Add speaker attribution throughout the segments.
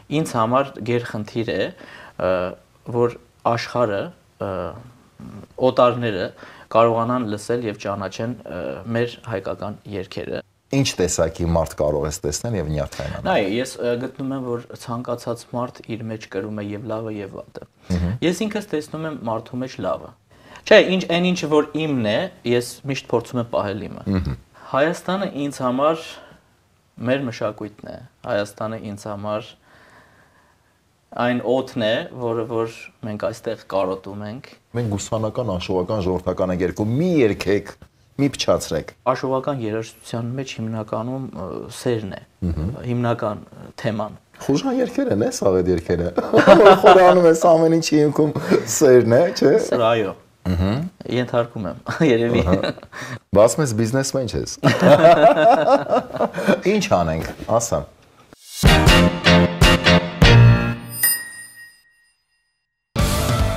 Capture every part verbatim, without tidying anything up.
Speaker 1: ինձ համար գերխնդիր է, որ աշխարհը, օտարները կարողանան լսել եւ ճանաչեն մեր հայկական երգերը։
Speaker 2: Ինչ տեսակի մարդ կարող ես տեսնել եւ նյարդայնանալ։
Speaker 1: Նայ, ես գտնում եմ, որ ցանկացած մարդ իր մեջ կրում է եւ լավը եւ վատը։ Ես ինքս տեսնում եմ մարդու մեջ լավը։ Չէ, ինչ այն ինչը որ իմն է, ես միշտ փորձում եմ պահել իմը։ Հայաստանը ինձ համար մեր մշակույթն է։ Հայաստանը ինձ համար այն օդն է, որը որ մենք այստեղ կարոտում ենք։
Speaker 2: Մենք գուսանական, աշուղական, ժողովրդական ենք երկու, մի երգեք, մի փչացրեք։
Speaker 1: Աշուղական երաժշտության մեջ հիմնականում սերն է, հիմնական թեման։
Speaker 2: Խուժան երգեր են, էս աղետ երգերը։ Խորանում ես ամեն ինչի հիմքում սերն է, չէ՞։
Speaker 1: Սրա այո։ Ենթարկում եմ, երևի։
Speaker 2: Բաս մեզ բիզնեսմեն չես։ Ինչ անենք, ասա։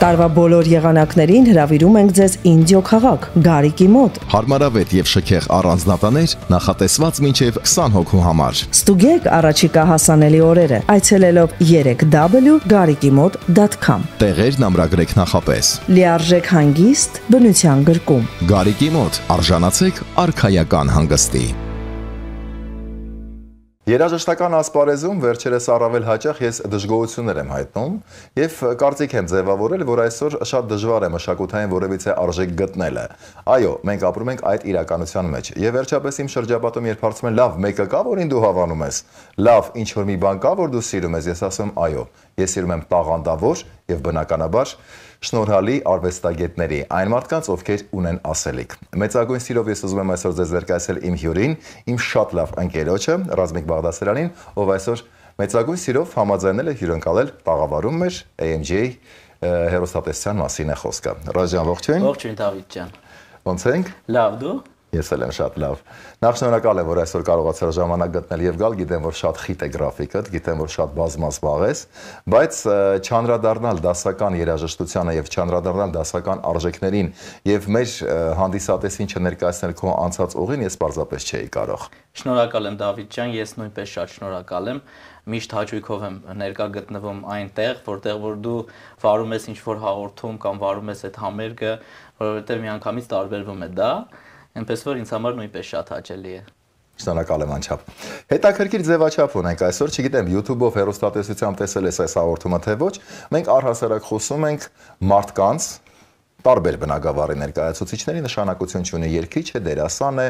Speaker 3: Տարվա բոլոր եղանակներին հրավիրում ենք ձեզ Ինդիո քաղաք, Գարիկի մոտ։
Speaker 4: Հարմարավետ եւ շքեղ առանձնատաներ նախատեսված մինչեւ քսան հոգու համար։
Speaker 3: Ստուգեք առաջիկա հասանելի օրերը, այցելելով three w garikimot dot com։
Speaker 4: Տեղերն ամրագրեք նախապես։
Speaker 3: Լիարժեք հանգիստ, բնության գրկում։
Speaker 4: Գարիկի մոտ արժանացեք արքայական հանգստի։
Speaker 2: Երաժշտական ասպարեզում վերջերս առավել հաճախ ես դժգոհություններ եմ հայտնում եւ կարծիք եմ ձևավորել, որ այսօր շատ դժվար է մշակութային որևիցե արժեք գտնելը։ Այո, մենք ապրում ենք այդ իրականության մեջ։ Եվ վերջապես իմ շրջապատում երբ հարցում են, լավ, մեկը կա, որին դու հավանում ես։ Լավ, ինչ որ մի բան կա, որ դու սիրում ես, ես ասում եմ, այո, ես սիրում եմ տաղանդավոր եւ բնականաբար շնորհալի արվեստագետների, այն մարդկանց, ովքեր ունեն ասելիք։ Մեծագույն սիրով ես ուզում եմ այսօր ձեզ ներկայացնել իմ հյուրին, իմ շատ լավ ընկերոջը, Ռազմիկ Բաղդասարյանին, ով այսօր մեծագույն սիրով համաձայնել է հյուրընկալել տաղավարում մեր A M G հեռուստատեսության մասին է խոսքը։ Ռոժան, ողջույն։
Speaker 1: Ողջույն Դավիթ ջան։
Speaker 2: Ոնց ենք։
Speaker 1: Լավ, դու։
Speaker 2: Ես էլ եմ շատ լավ։ Նախ շնորհակալ եմ, որ այսօր կարողացար ժամանակ գտնել եւ գալ, գիտեմ, որ շատ խիտ է գրաֆիկդ, գիտեմ, որ շատ բազմազբաղ ես, բայց չանդրադառնալ դասական երաժշտությանը եւ չանդրադառնալ դասական արժեքներին եւ մեր հանդիսատեսին չներկայացնել քո անցած ուղին, ես պարզապես չէի կարող։
Speaker 1: Շնորհակալ եմ Դավիթ ջան, ես նույնպես շատ շնորհակալ եմ։ Միշտ հաճույքով եմ ներկա գտնվում այնտեղ, որտեղ որ դու վարում ես ինչ-որ հաղորդում կամ վարում ես այդ համերգը, որովհետեւ միանգամից տարբերվում է դա, այնպես որ ինձ համար նույնպես շատ հաճելի է։
Speaker 2: Շնորհակալ եմ անչափ։ Հետաքրքիր ձևաչափ ունենք այսօր, չգիտեմ, YouTube-ով հեռուստատեսությամբ տեսել ես այս հաղորդումը թե ոչ, մենք առհասարակ խոսում ենք մարդկանց տարբեր բնագավառի ներկայացուցիչների, նշանակություն չունի երգիչ է, դերասան է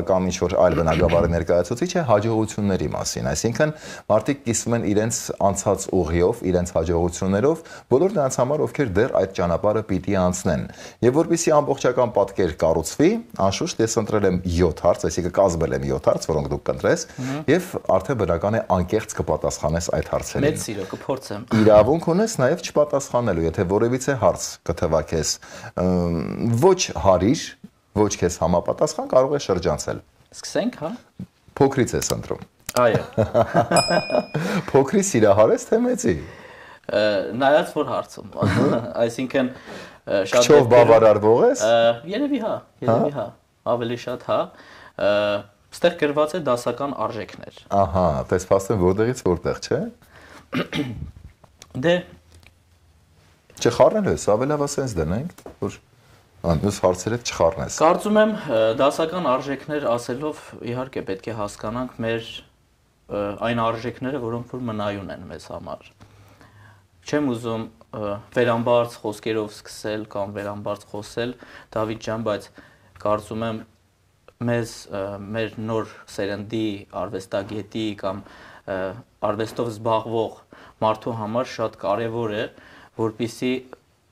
Speaker 2: կամ ինչ-որ այլ բնագավառի ներկայացուցիչ է, հաջողությունների մասին, այսինքն մարդիկ կիսվում են իրենց անցած ուղիով, իրենց հաջողություններով, բոլոր նրանց համար, ովքեր դեռ այդ ճանապարհը պիտի անցնեն։ Եվ որպեսզի ամբողջական պատկեր կառուցվի, անշուշտ ես ընտրել եմ յոթ հարց, այսինքն կազմել եմ յոթ հարց, որոնք դուք կընտրես, եւ արդեն բնական է անկեղծ կպատասխանես այդ հարցերին։
Speaker 1: Մեծ սիրով կփորձեմ։
Speaker 2: Իրավունք ունես նաեւ չպատասխանելու, եթե որևիցե հարց կթվակես ոչ հարիր, ոչ քեզ համապատասխան, կարող է շրջանցել։
Speaker 1: Սկսենք, հա։
Speaker 2: Փոքրից ես ընտրում։
Speaker 1: Այո։
Speaker 2: Փոքրի սիրահարես թե մեծի։
Speaker 1: Նայած որ հարցում, այսինքն
Speaker 2: շատ Քչով բավարարվող ես։
Speaker 1: Երևի հա, երևի հա, ավելի շատ հա։ Ստեղ գրված է դասական արժեքներ։
Speaker 2: Ահա, պես փաստեն որտեղից որտեղ, չէ։
Speaker 1: Դե
Speaker 2: Չխառնելու ես, ավելի լավ ասենց դնենք, որ մյուս հարցերը չխառնես։
Speaker 1: Կարծում եմ դասական արժեքներ ասելով իհարկե պետք է հասկանանք մեր այն արժեքները, որոնք որ մնայուն են մեզ համար։ Չեմ ուզում վերամբարձ խոսքերով սկսել կամ վերամբարձ խոսել, Դավիթ ջան, բայց կարծում եմ մեզ մեր նոր սերնդի արվեստագետի կամ արվեստով զբաղվող մարդու համար շատ կարևոր է որպեսզի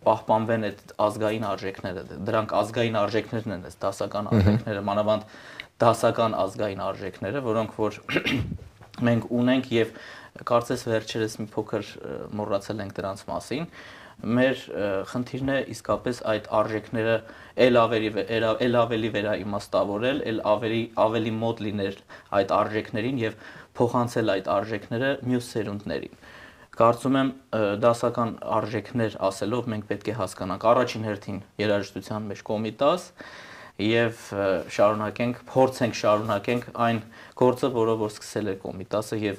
Speaker 1: պահպանվեն այդ ազգային արժեքները, դրանք ազգային արժեքներն են, այս դասական արժեքները, մանավանդ դասական ազգային արժեքները, որոնք որ մենք ունենք եւ կարծես վերջերս մի փոքր մոռացել ենք դրանց մասին, մեր խնդիրն է իսկապես այդ արժեքները ել ավելի ել ավելի վերաիմաստավորել, ել ավելի ավելի մոտ լինել այդ արժեքներին եւ փոխանցել այդ արժեքները մյուս սերունդներին։ Կարծում եմ դասական արժեքներ ասելով մենք պետք է հասկանանք առաջին հերթին երաժշտության մեջ կոմիտաս եւ շարունակենք, փորձենք շարունակենք այն գործը, որը որ սկսել է կոմիտասը եւ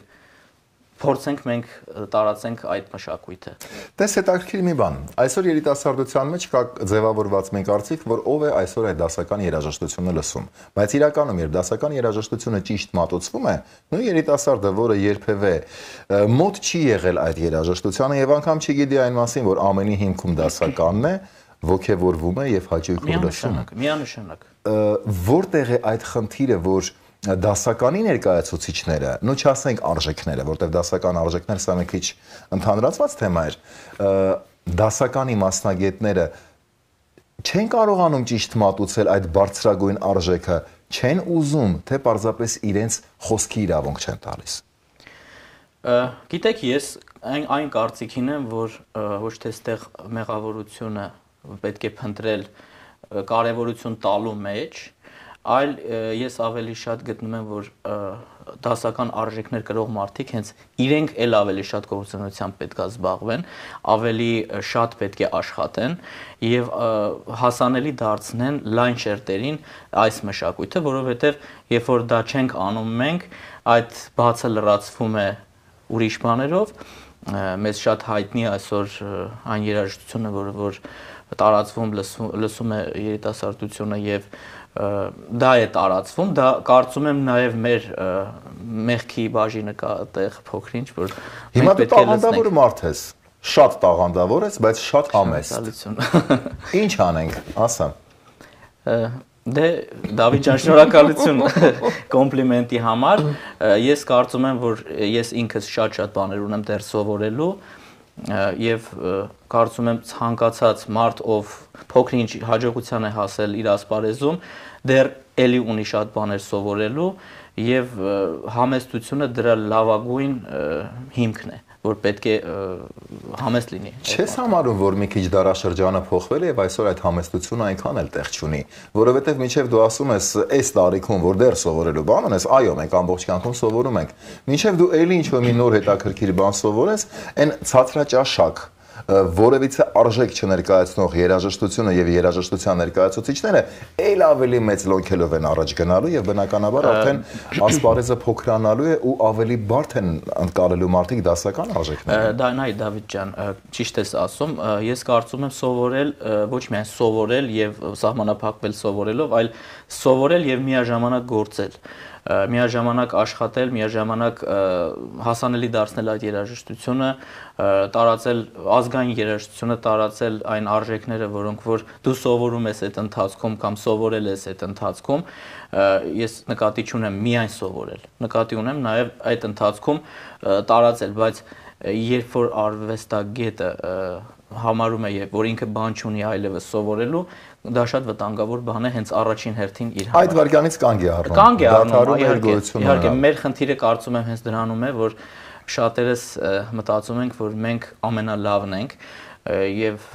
Speaker 1: փորձենք մենք տարածենք այդ մշակույթը։
Speaker 2: Դες հետաքրքիր մի բան։ Այսօր երիտասարդության մեջ կա ձևավորված մի կարծիք, որ ով է այսօր այդ դասական երաժշտությունը լսում։ Բայց իրականում, երբ դասական երաժշտությունը ճիշտ մատուցվում է, նույն երիտասարդը, որը երբևէ մոտ չի եղել այդ երաժշտությանը եւ անգամ չգիտի այն մասին, որ ամենի հիմքում դասականն է, ոգևորվում է եւ հաճույքով լսում է։
Speaker 1: Միանշանակ։
Speaker 2: Որտեղ է այդ խնդիրը, որ դասականի ներկայացուցիչները, նո չասենք արժեքները, որտեղ դասական արժեքներ սա մի քիչ ընդհանրացված թեմա էր, դասականի մասնագետները չեն կարողանում ճիշտ մատուցել այդ բարձրագույն արժեքը, չեն ուզում, թե պարզապես իրենց խոսքի իրավունք չեն տալիս։
Speaker 1: Գիտեք, ես այն այն կարծիքին եմ, որ ոչ թե այստեղ մեղավորությունը պետք է փնտրել կարևորություն տալու մեջ, այլ ես ավելի շատ գտնում եմ, որ դասական արժեքներ կրող մարդիկ հենց իրենք էլ ավելի շատ գործունեությամբ պետք է զբաղվեն, ավելի շատ պետք է աշխատեն եւ հասանելի դարձնեն լայն շերտերին այս մշակույթը, որովհետեւ երբ որ դա չենք անում մենք, այդ բացը լրացվում է ուրիշ բաներով, մեզ շատ հայտնի այսօր այն երաժշտությունը, որը որ տարածվում լսում է երիտասարդությունը եւ դա է տարածվում, դա կարծում եմ նաև մեր մեղքի բաժինը կա այդտեղ փոքրինչ, որ
Speaker 2: հիմա դու տաղանդավոր մարդ ես, շատ տաղանդավոր ես, բայց շատ համեստ։ Ինչ անենք, ասա։
Speaker 1: Դե Դավիթ ջան, շնորհակալություն կոմպլիմենտի համար։ Ես կարծում եմ, որ ես ինքս շատ-շատ բաներ ունեմ դեռ սովորելու եւ կարծում եմ ցանկացած մարդ, ով փոքրինչ հաջողության է հասել իր ասպարեզում, դեռ էլի ունի շատ բաներ սովորելու եւ համեստությունը դրա լավագույն հիմքն է, որ պետք է համեստ լինի։
Speaker 2: Չես համարում, որ մի քիչ դարաշրջանը փոխվել է եւ այսօր այդ համեստությունը այնքան էլ տեղ չունի, որովհետեւ մինչեւ դու ասում ես, այս տարիքում որ դեռ սովորելու բան ունես, այո, մենք ամբողջ կյանքում սովորում ենք։ Մինչեւ դու էլի ինչ-որ մի նոր հետաքրքիր բան սովորես, այն ցածրաճաշակ որևիցե արժեք չներկայացնող երաժշտությունը եւ երաժշտության ներկայացուցիչները ել ավելի մեծ լոնքելով են առաջ գնալու եւ բնականաբար արդեն ասպարեզը փոքրանալու է ու ավելի բարդ են անցկալելու մարդիկ դասական արժեքները։
Speaker 1: Դա նայ Դավիթ ջան, ճիշտ ես ասում, ես կարծում եմ սովորել ոչ միայն սովորել եւ սահմանափակվել սովորելով, այլ սովորել եւ միաժամանակ գործել, միաժամանակ աշխատել, միաժամանակ հասանելի դարձնել այդ երաժշտությունը, տարածել ազգային երաժշտությունը, տարածել այն արժեքները, որոնք որ դու սովորում ես այդ ընթացքում կամ սովորել ես այդ ընթացքում, ես նկատի չունեմ միայն սովորել, նկատի ունեմ նաև այդ ընթացքում տարածել, բայց երբ որ արվեստագետը համարում է, որ ինքը բան չունի այլևս սովորելու, դա շատ վտանգավոր բան է հենց առաջին հերթին իր համար։
Speaker 2: Այդ վարքյանից կանգ է առնում։
Speaker 1: Կանգ է առնում, իհարկե, մեր խնդիրը կարծում եմ հենց դրանում է, որ շատերս մտածում ենք, որ մենք ամենալավն ենք եւ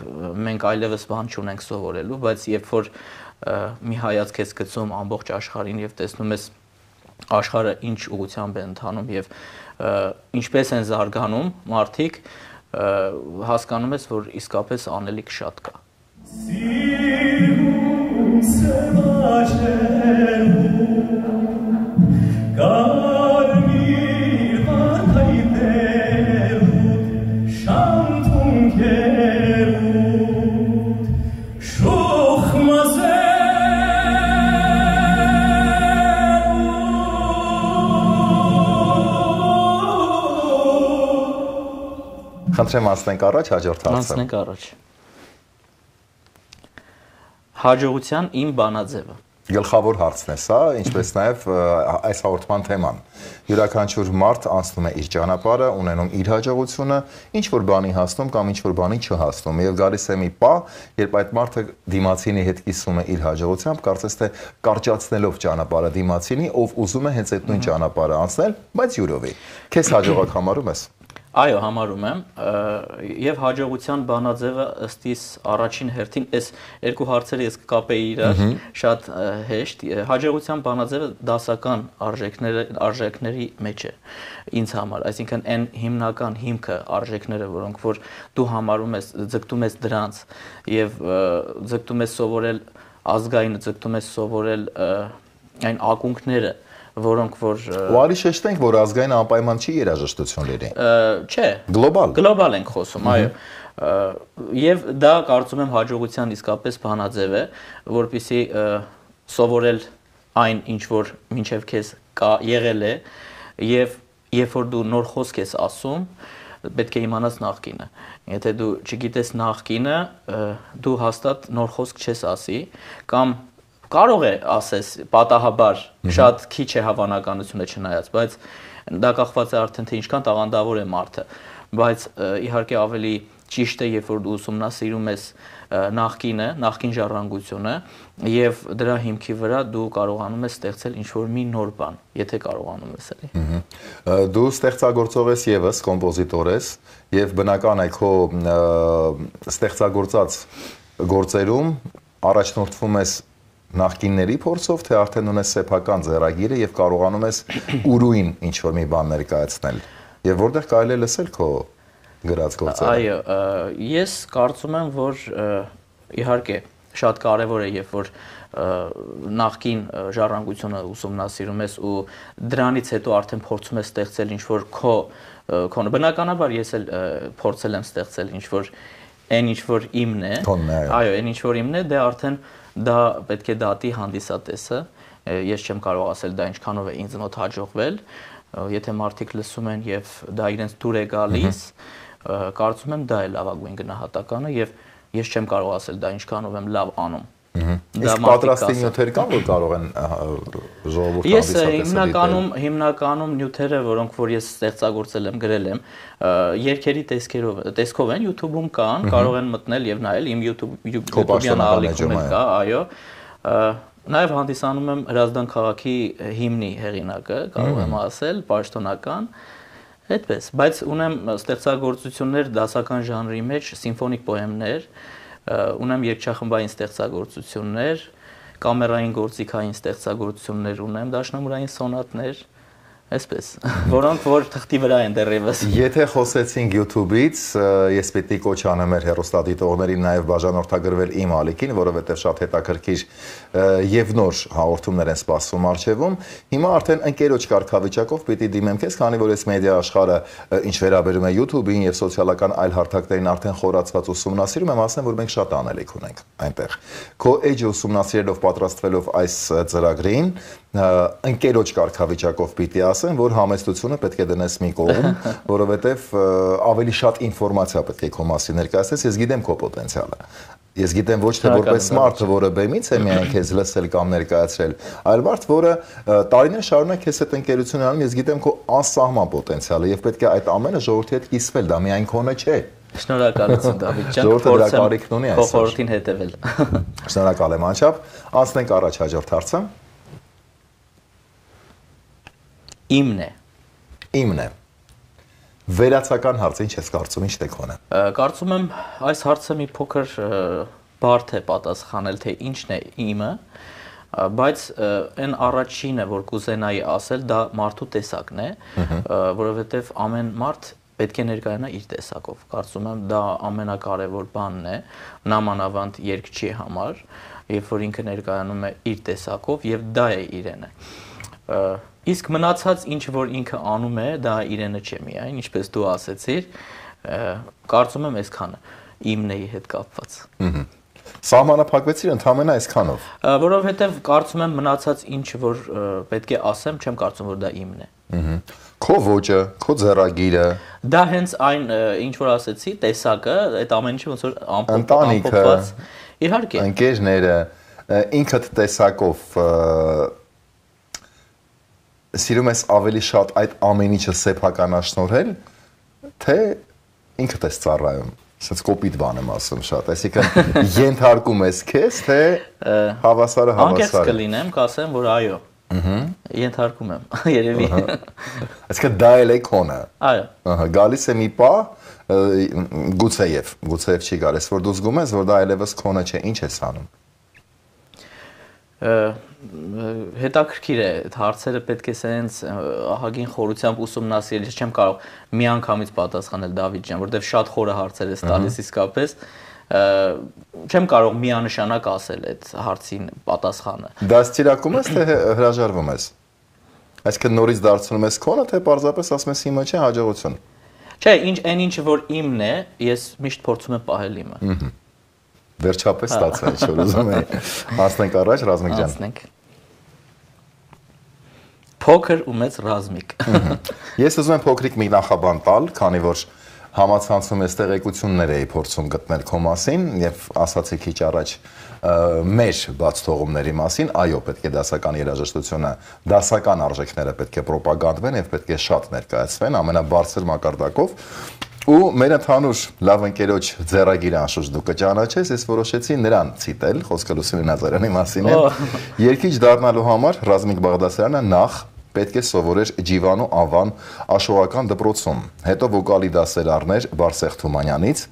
Speaker 1: մենք այլևս բան չունենք սովորելու, բայց երբ որ մի հայացք ես գցում ամբողջ աշխարհին եւ տեսնում ես աշխարհը ինչ ուղղությամբ է ընթանում եւ ինչպես են զարգանում մարդիկ, հասկանում ես, որ իսկապես անելիք շատ կա։
Speaker 2: Խնդրեմ անցնենք առաջ հաջորդ հարցը։
Speaker 1: Անցնենք առաջ։ Հաջողության իմ բանաձևը։
Speaker 2: Գլխավոր հարցն է սա, ինչպես նաև այս հաղորդման թեման։ Յուրաքանչյուր մարդ անցնում է իր ճանապարհը, ունենում իր հաջողությունը, ինչ որ բանի հասնում կամ ինչ որ բանի չհասնում, եւ գալիս է մի պահ, երբ այդ մարդը դիմացինի հետ կիսում է իր հաջողությամբ, կարծես թե կարճացնելով ճանապարհը դիմացինի, ով ուզում է հենց այդ նույն ճանապարհը անցնել, բայց յուրովի։ Քեզ հաջողակ համարում ես։
Speaker 1: Այո, համարում եմ, եւ հաջողության բանաձևը ըստ իս առաջին հերթին այս երկու հարցերը ես կկապեի իրար շատ հեշտ։ Հաջողության բանաձևը դասական արժեքները արժեքների մեջ է ինձ համար, այսինքն այն հիմնական հիմքը արժեքները, որոնք որ դու համարում ես, ձգտում ես դրանց եւ ձգտում ես սովորել ազգային, ձգտում ես սովորել այն ակունքները, որոնք որ
Speaker 2: ու արի շեշտենք, որ ազգային անպայման չի երաժշտություն լինի։
Speaker 1: Չէ,
Speaker 2: Գլոբալ։
Speaker 1: Գլոբալ ենք խոսում, այո։ Եվ դա կարծում եմ հաջողության իսկապես բանաձև է, որպեսզի սովորել այն, ինչ որ մինչև քեզ կա եղել է, եւ երբ որ դու նոր խոսք ես ասում, պետք է իմանաս նախկինը։ Եթե դու չգիտես նախկինը, դու հաստատ նոր խոսք չես ասի, կամ կարող է ասես պատահաբար շատ քիչ է հավանականությունը չնայած, բայց դա կախված է արդեն թե ինչքան տաղանդավոր է մարդը, բայց իհարկե ավելի ճիշտ է, երբ որ դու ուսումնասիրում ես նախկինը, նախկին ժառանգությունը եւ դրա հիմքի վրա դու կարողանում ես ստեղծել ինչ-որ մի նոր բան, եթե կարողանում ես էլի։
Speaker 2: Դու ստեղծագործող ես եւս, կոմպոզիտոր ես եւ բնական է քո ստեղծագործած գործերում առաջնորդվում ես նախկինների փորձով, թե արդեն ունես սեփական ձեռագիրը եւ կարողանում ես ուրույն ինչ-որ մի բան ներկայացնել։ Եվ որտեղ կարելի է լսել քո գրած գործերը։
Speaker 1: Այո, ես կարծում եմ, որ իհարկե շատ կարևոր է, երբ որ նախկին ժառանգությունը ուսումնասիրում ես ու դրանից հետո արդեն փորձում ես ստեղծել ինչ-որ քո քոնը։ Բնականաբար ես էլ փորձել եմ ստեղծել ինչ-որ այն ինչ-որ իմն է։ Այո, այն ինչ-որ իմն է, դե արդեն դա պետք է դատի հանդիսատեսը։ Ես չեմ կարող ասել դա ինչքանով է ինձ մոտ հաջողվել։ Եթե մարդիկ լսում են եւ դա իրենց դուր է գալիս, կարծում եմ դա է լավագույն գնահատականը եւ ես չեմ կարող ասել դա ինչքանով եմ լավ անում։
Speaker 2: Իսկ պատրաստի նյութեր կան, որ կարող են ժողովուրդը
Speaker 1: Ես հիմնականում հիմնականում նյութերը, որոնք որ ես ստեղծագործել եմ, գրել եմ, երգերի տեսքերով, տեսքով են YouTube-ում կան, կարող են մտնել եւ նայել, իմ YouTube-յան ալիքում կա, այո։ Նաեւ հանդիսանում եմ Հրազդան քաղաքի հիմնի հեղինակը, կարող եմ ասել, պաշտոնական, այդպես, բայց ունեմ ստեղծագործություններ դասական ժանրի մեջ, սիմֆոնիկ պոեմներ, ունեմ երգչախմբային ստեղծագործություններ, կամերային գործիքային ստեղծագործություններ ունեմ, դաշնամուրային սոնատներ, այսպես, որոնք որ թղթի վրա են դեռևս։
Speaker 2: Եթե խոսեցինք YouTube-ից, ես պետք է կոչ անեմ մեր հեռուստադիտողներին նաև բաժանորդագրվել իմ ալիքին, որովհետև շատ հետաքրքիր եւ նոր հաղորդումներ են սպասվում արժևում։ Հիմա արդեն ընկերոջ կարգավիճակով պիտի դիմեմ քեզ, քանի որ այս մեդիա աշխարհը ինչ վերաբերում է YouTube-ին եւ սոցիալական այլ հարթակներին արդեն խորացված ուսումնասիրում եմ, ասեմ, որ մենք շատ անելիք ունենք այնտեղ։ Քո էջը ուսումնասիրելով պատրաստվելով այս ծրագրին, ընկերոջ կարգավիճակով պիտի ասեմ, որ համեստությունը պետք է դնես մի կողմ, որովհետև ավելի շատ ինֆորմացիա պետք է քո մասին ներկայացնես, ես գիտեմ քո պոտենցիալը։ Ես գիտեմ ոչ թե որպես մարդ, որը բեմից է միայն քեզ լսել կամ ներկայացրել, այլ մարդ, որը տարիներ շարունակ քեզ հետ ընկերություն անում, ես գիտեմ քո անսահման պոտենցիալը եւ պետք է այդ ամենը ժողովրդի հետ կիսվել, դա միայն քոնը չէ։
Speaker 1: Շնորհակալություն Դավիթ ջան,
Speaker 2: ժողովուրդը դրա կարիքն ունի այսօր։
Speaker 1: Խորհրդին հետևել։
Speaker 2: Շնորհակալ եմ անչափ, անցնենք առաջ հաջորդ հարցը։
Speaker 1: Իմն է։
Speaker 2: Իմն է։ Վերացական հարցը ինչ ես կարծում, ինչ տեքոն է։
Speaker 1: Կարծում եմ այս հարցը մի փոքր բարդ է պատասխանել, թե ինչն է իմը, բայց այն առաջինը, որ կուզենայի ասել, դա մարդու տեսակն է, որովհետև ամեն մարդ պետք է ներկայանա իր տեսակով։ Կարծում եմ դա ամենակարևոր բանն է, նամանավանդ երգչի համար, երբ որ ինքը ներկայանում է իր տեսակով եւ դա է իրենը։ Իսկ մնացած ինչ որ ինքը անում է, դա իրենը չէ միայն, ինչպես դու ասեցիր, կարծում եմ այսքանը իմնեի հետ կապված։
Speaker 2: Սահմանափակվեցիր ընդհանրապես այսքանով։
Speaker 1: Որովհետև կարծում եմ մնացած ինչ որ պետք է ասեմ, չեմ կարծում որ դա իմն է։
Speaker 2: Քո ոճը, քո ձեռագիրը։
Speaker 1: Դա հենց այն ինչ որ ասեցի, տեսակը, այդ ամեն ինչը ոնց որ
Speaker 2: ամփոփված։
Speaker 1: Իհարկե։
Speaker 2: Ընկերները, ինքդ տեսակով սիրում ես ավելի շատ այդ ամեն ինչը սեփականաշնորհել, թե ինքդ ես ծառայում։ Ասած կոպիտ բան եմ ասում շատ, այսինքն ենթարկում ես քեզ, թե հավասարը հավասար է։
Speaker 1: Անկեղծ կլինեմ, կասեմ, որ այո։ Ահա։ Ենթարկում եմ, երևի։
Speaker 2: Այսինքն դա էլ է քոնը։
Speaker 1: Այո։
Speaker 2: Ահա, գալիս է մի պահ, գուցեև, գուցեև չի գալիս, որ դու զգում ես, որ դա այլևս քոնը չէ, ինչ ես անում։
Speaker 1: Հետաքրքիր է, հարցերը պետք է սենց ահագին խորությամբ ուսումնասիրել, ես չեմ կարող միանգամից պատասխանել Դավիթ ջան, որովհետև շատ խորը հարցեր ես տալիս իսկապես, չեմ կարող միանշանակ ասել այդ հարցին պատասխանը։
Speaker 2: Դաստիարակում ես, թե հրաժարվում ես։ Այսինքն նորից դարձնում ես քոնը, թե պարզապես ասում ես իմը չէ, հաջողություն։
Speaker 1: Չէ, ինչ այն ինչը որ իմն է, ես միշտ փորձում եմ պահել իմը։
Speaker 2: Վերջապես ստացա, ինչ որ ուզում էի։ Հասնենք առաջ, Ռազմիկ ջան։
Speaker 1: Հասնենք։ Փոքր ու մեծ Ռազմիկ։
Speaker 2: Ես ուզում եմ փոքրիկ մի նախաբան տալ, քանի որ համացանցում ես տեղեկություններ էի փորձում գտնել քո մասին եւ ասացի քիչ առաջ մեր բաց թողումների մասին, այո, պետք է դասական երաժշտությունը, դասական արժեքները պետք է ռոպագանդվեն եւ պետք է շատ ներկայացվեն ամենաբարձր մակարդակով։ Ու մեր ընդհանուր լավ ընկերոջ ձեռագիրը անշուշտ դու կճանաչես, ես որոշեցի նրան ցիտել, խոսքը Լուսինե Նազարյանի մասին է։ Երգիչ դառնալու համար Ռազմիկ Բաղդասարյանը նախ պետք է սովորեր Ջիվանու անվան աշխուղական դպրոցում, հետո վոկալի դասեր առներ Բարսեղ Թումանյանից,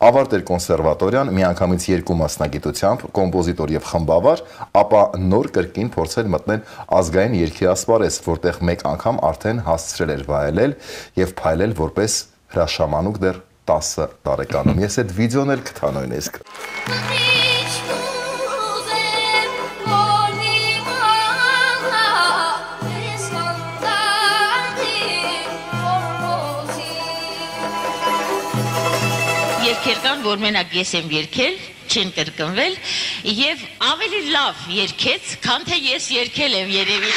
Speaker 2: ավարտեր կոնսերվատորիան միանգամից երկու մասնագիտությամբ, կոմպոզիտոր եւ խմբավար, ապա նոր կրկին փորձեր մտնել ազգային երգի ասպարեզ, որտեղ մեկ անգամ արդեն հասցրել էր վայելել եւ փայլել որպես հրաշամանուկ դեռ տասը տարեկանում։ Ես այդ վիդեոն էլ կթա նույնիսկ։
Speaker 5: Երկեր կան, որ մենակ ես եմ երկել, չեն կրկնվել, եւ ավելի լավ երկեց, քան թե ես երկել եմ երևի։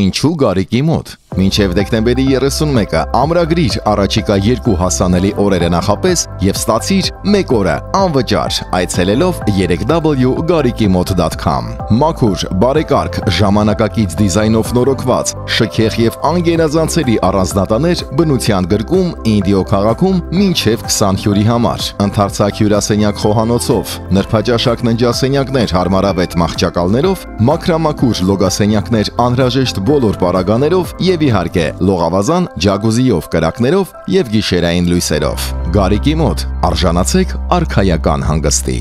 Speaker 4: Ինչու Գարիկի մոտ։ Մինչև դեկտեմբերի երեսունմեկը ամրագրիր առաջիկա երկու հասանելի օրերը նախապես եւ ստացիր մեկ օրը անվճար այցելելով three w gariki mot dot com։ Մաքուր, բարեկարգ, ժամանակակից դիզայնով նորոգված, շքեղ եւ անգերազանցելի առանձնատաներ բնության գրկում Ինդիո քաղաքում մինչև twenty հյուրի համար։ Ընդարձակ հյուրասենյակ խոհանոցով, նրբաճաշակ ննջասենյակներ հարմարավետ մահճակալներով, մաքրամաքուր լոգասենյակներ անհրաժեշտ բոլոր պարագաներով եւ իհարկե լողավազան, ջագուզիով, կրակներով եւ գիշերային լույսերով։ Գարիկի մոտ արժանացեք արքայական հանգստի։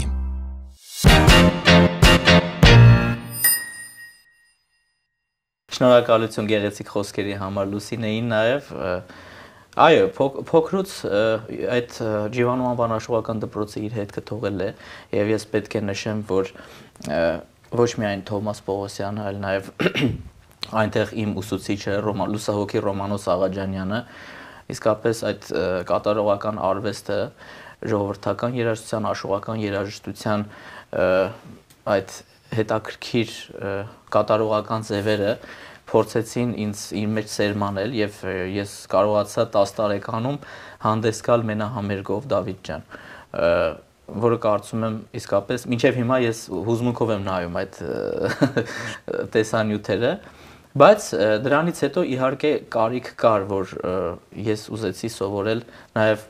Speaker 1: Շնորհակալություն գեղեցիկ խոսքերի համար Լուսինեին նաեւ այո փոքրուց այդ Ջիվանու անվան աշխուղական դպրոցը իր հետքը թողել է եւ ես պետք է նշեմ որ ոչ միայն Թոմաս Պողոսյանը, այլ նաեւ այնտեղ իմ ուսուցիչը լուսահոգի Ռոմանոս Աղաջանյանը իսկապես այդ կատարողական արվեստը ժողովրդական երաժշտության, աշխուղական երաժշտության այդ հետաքրքիր կատարողական ձևերը փորձեցին ինձ իր մեջ սերմանել եւ ես կարողացա տասը տարեկանում հանդես գալ մենահամերգով Դավիթ ջան, որը կարծում եմ իսկապես մինչև հիմա ես հուզմունքով եմ նայում այդ տեսանյութերը, բայց դրանից հետո իհարկե կարիք կար, որ ես ուզեցի սովորել նաեւ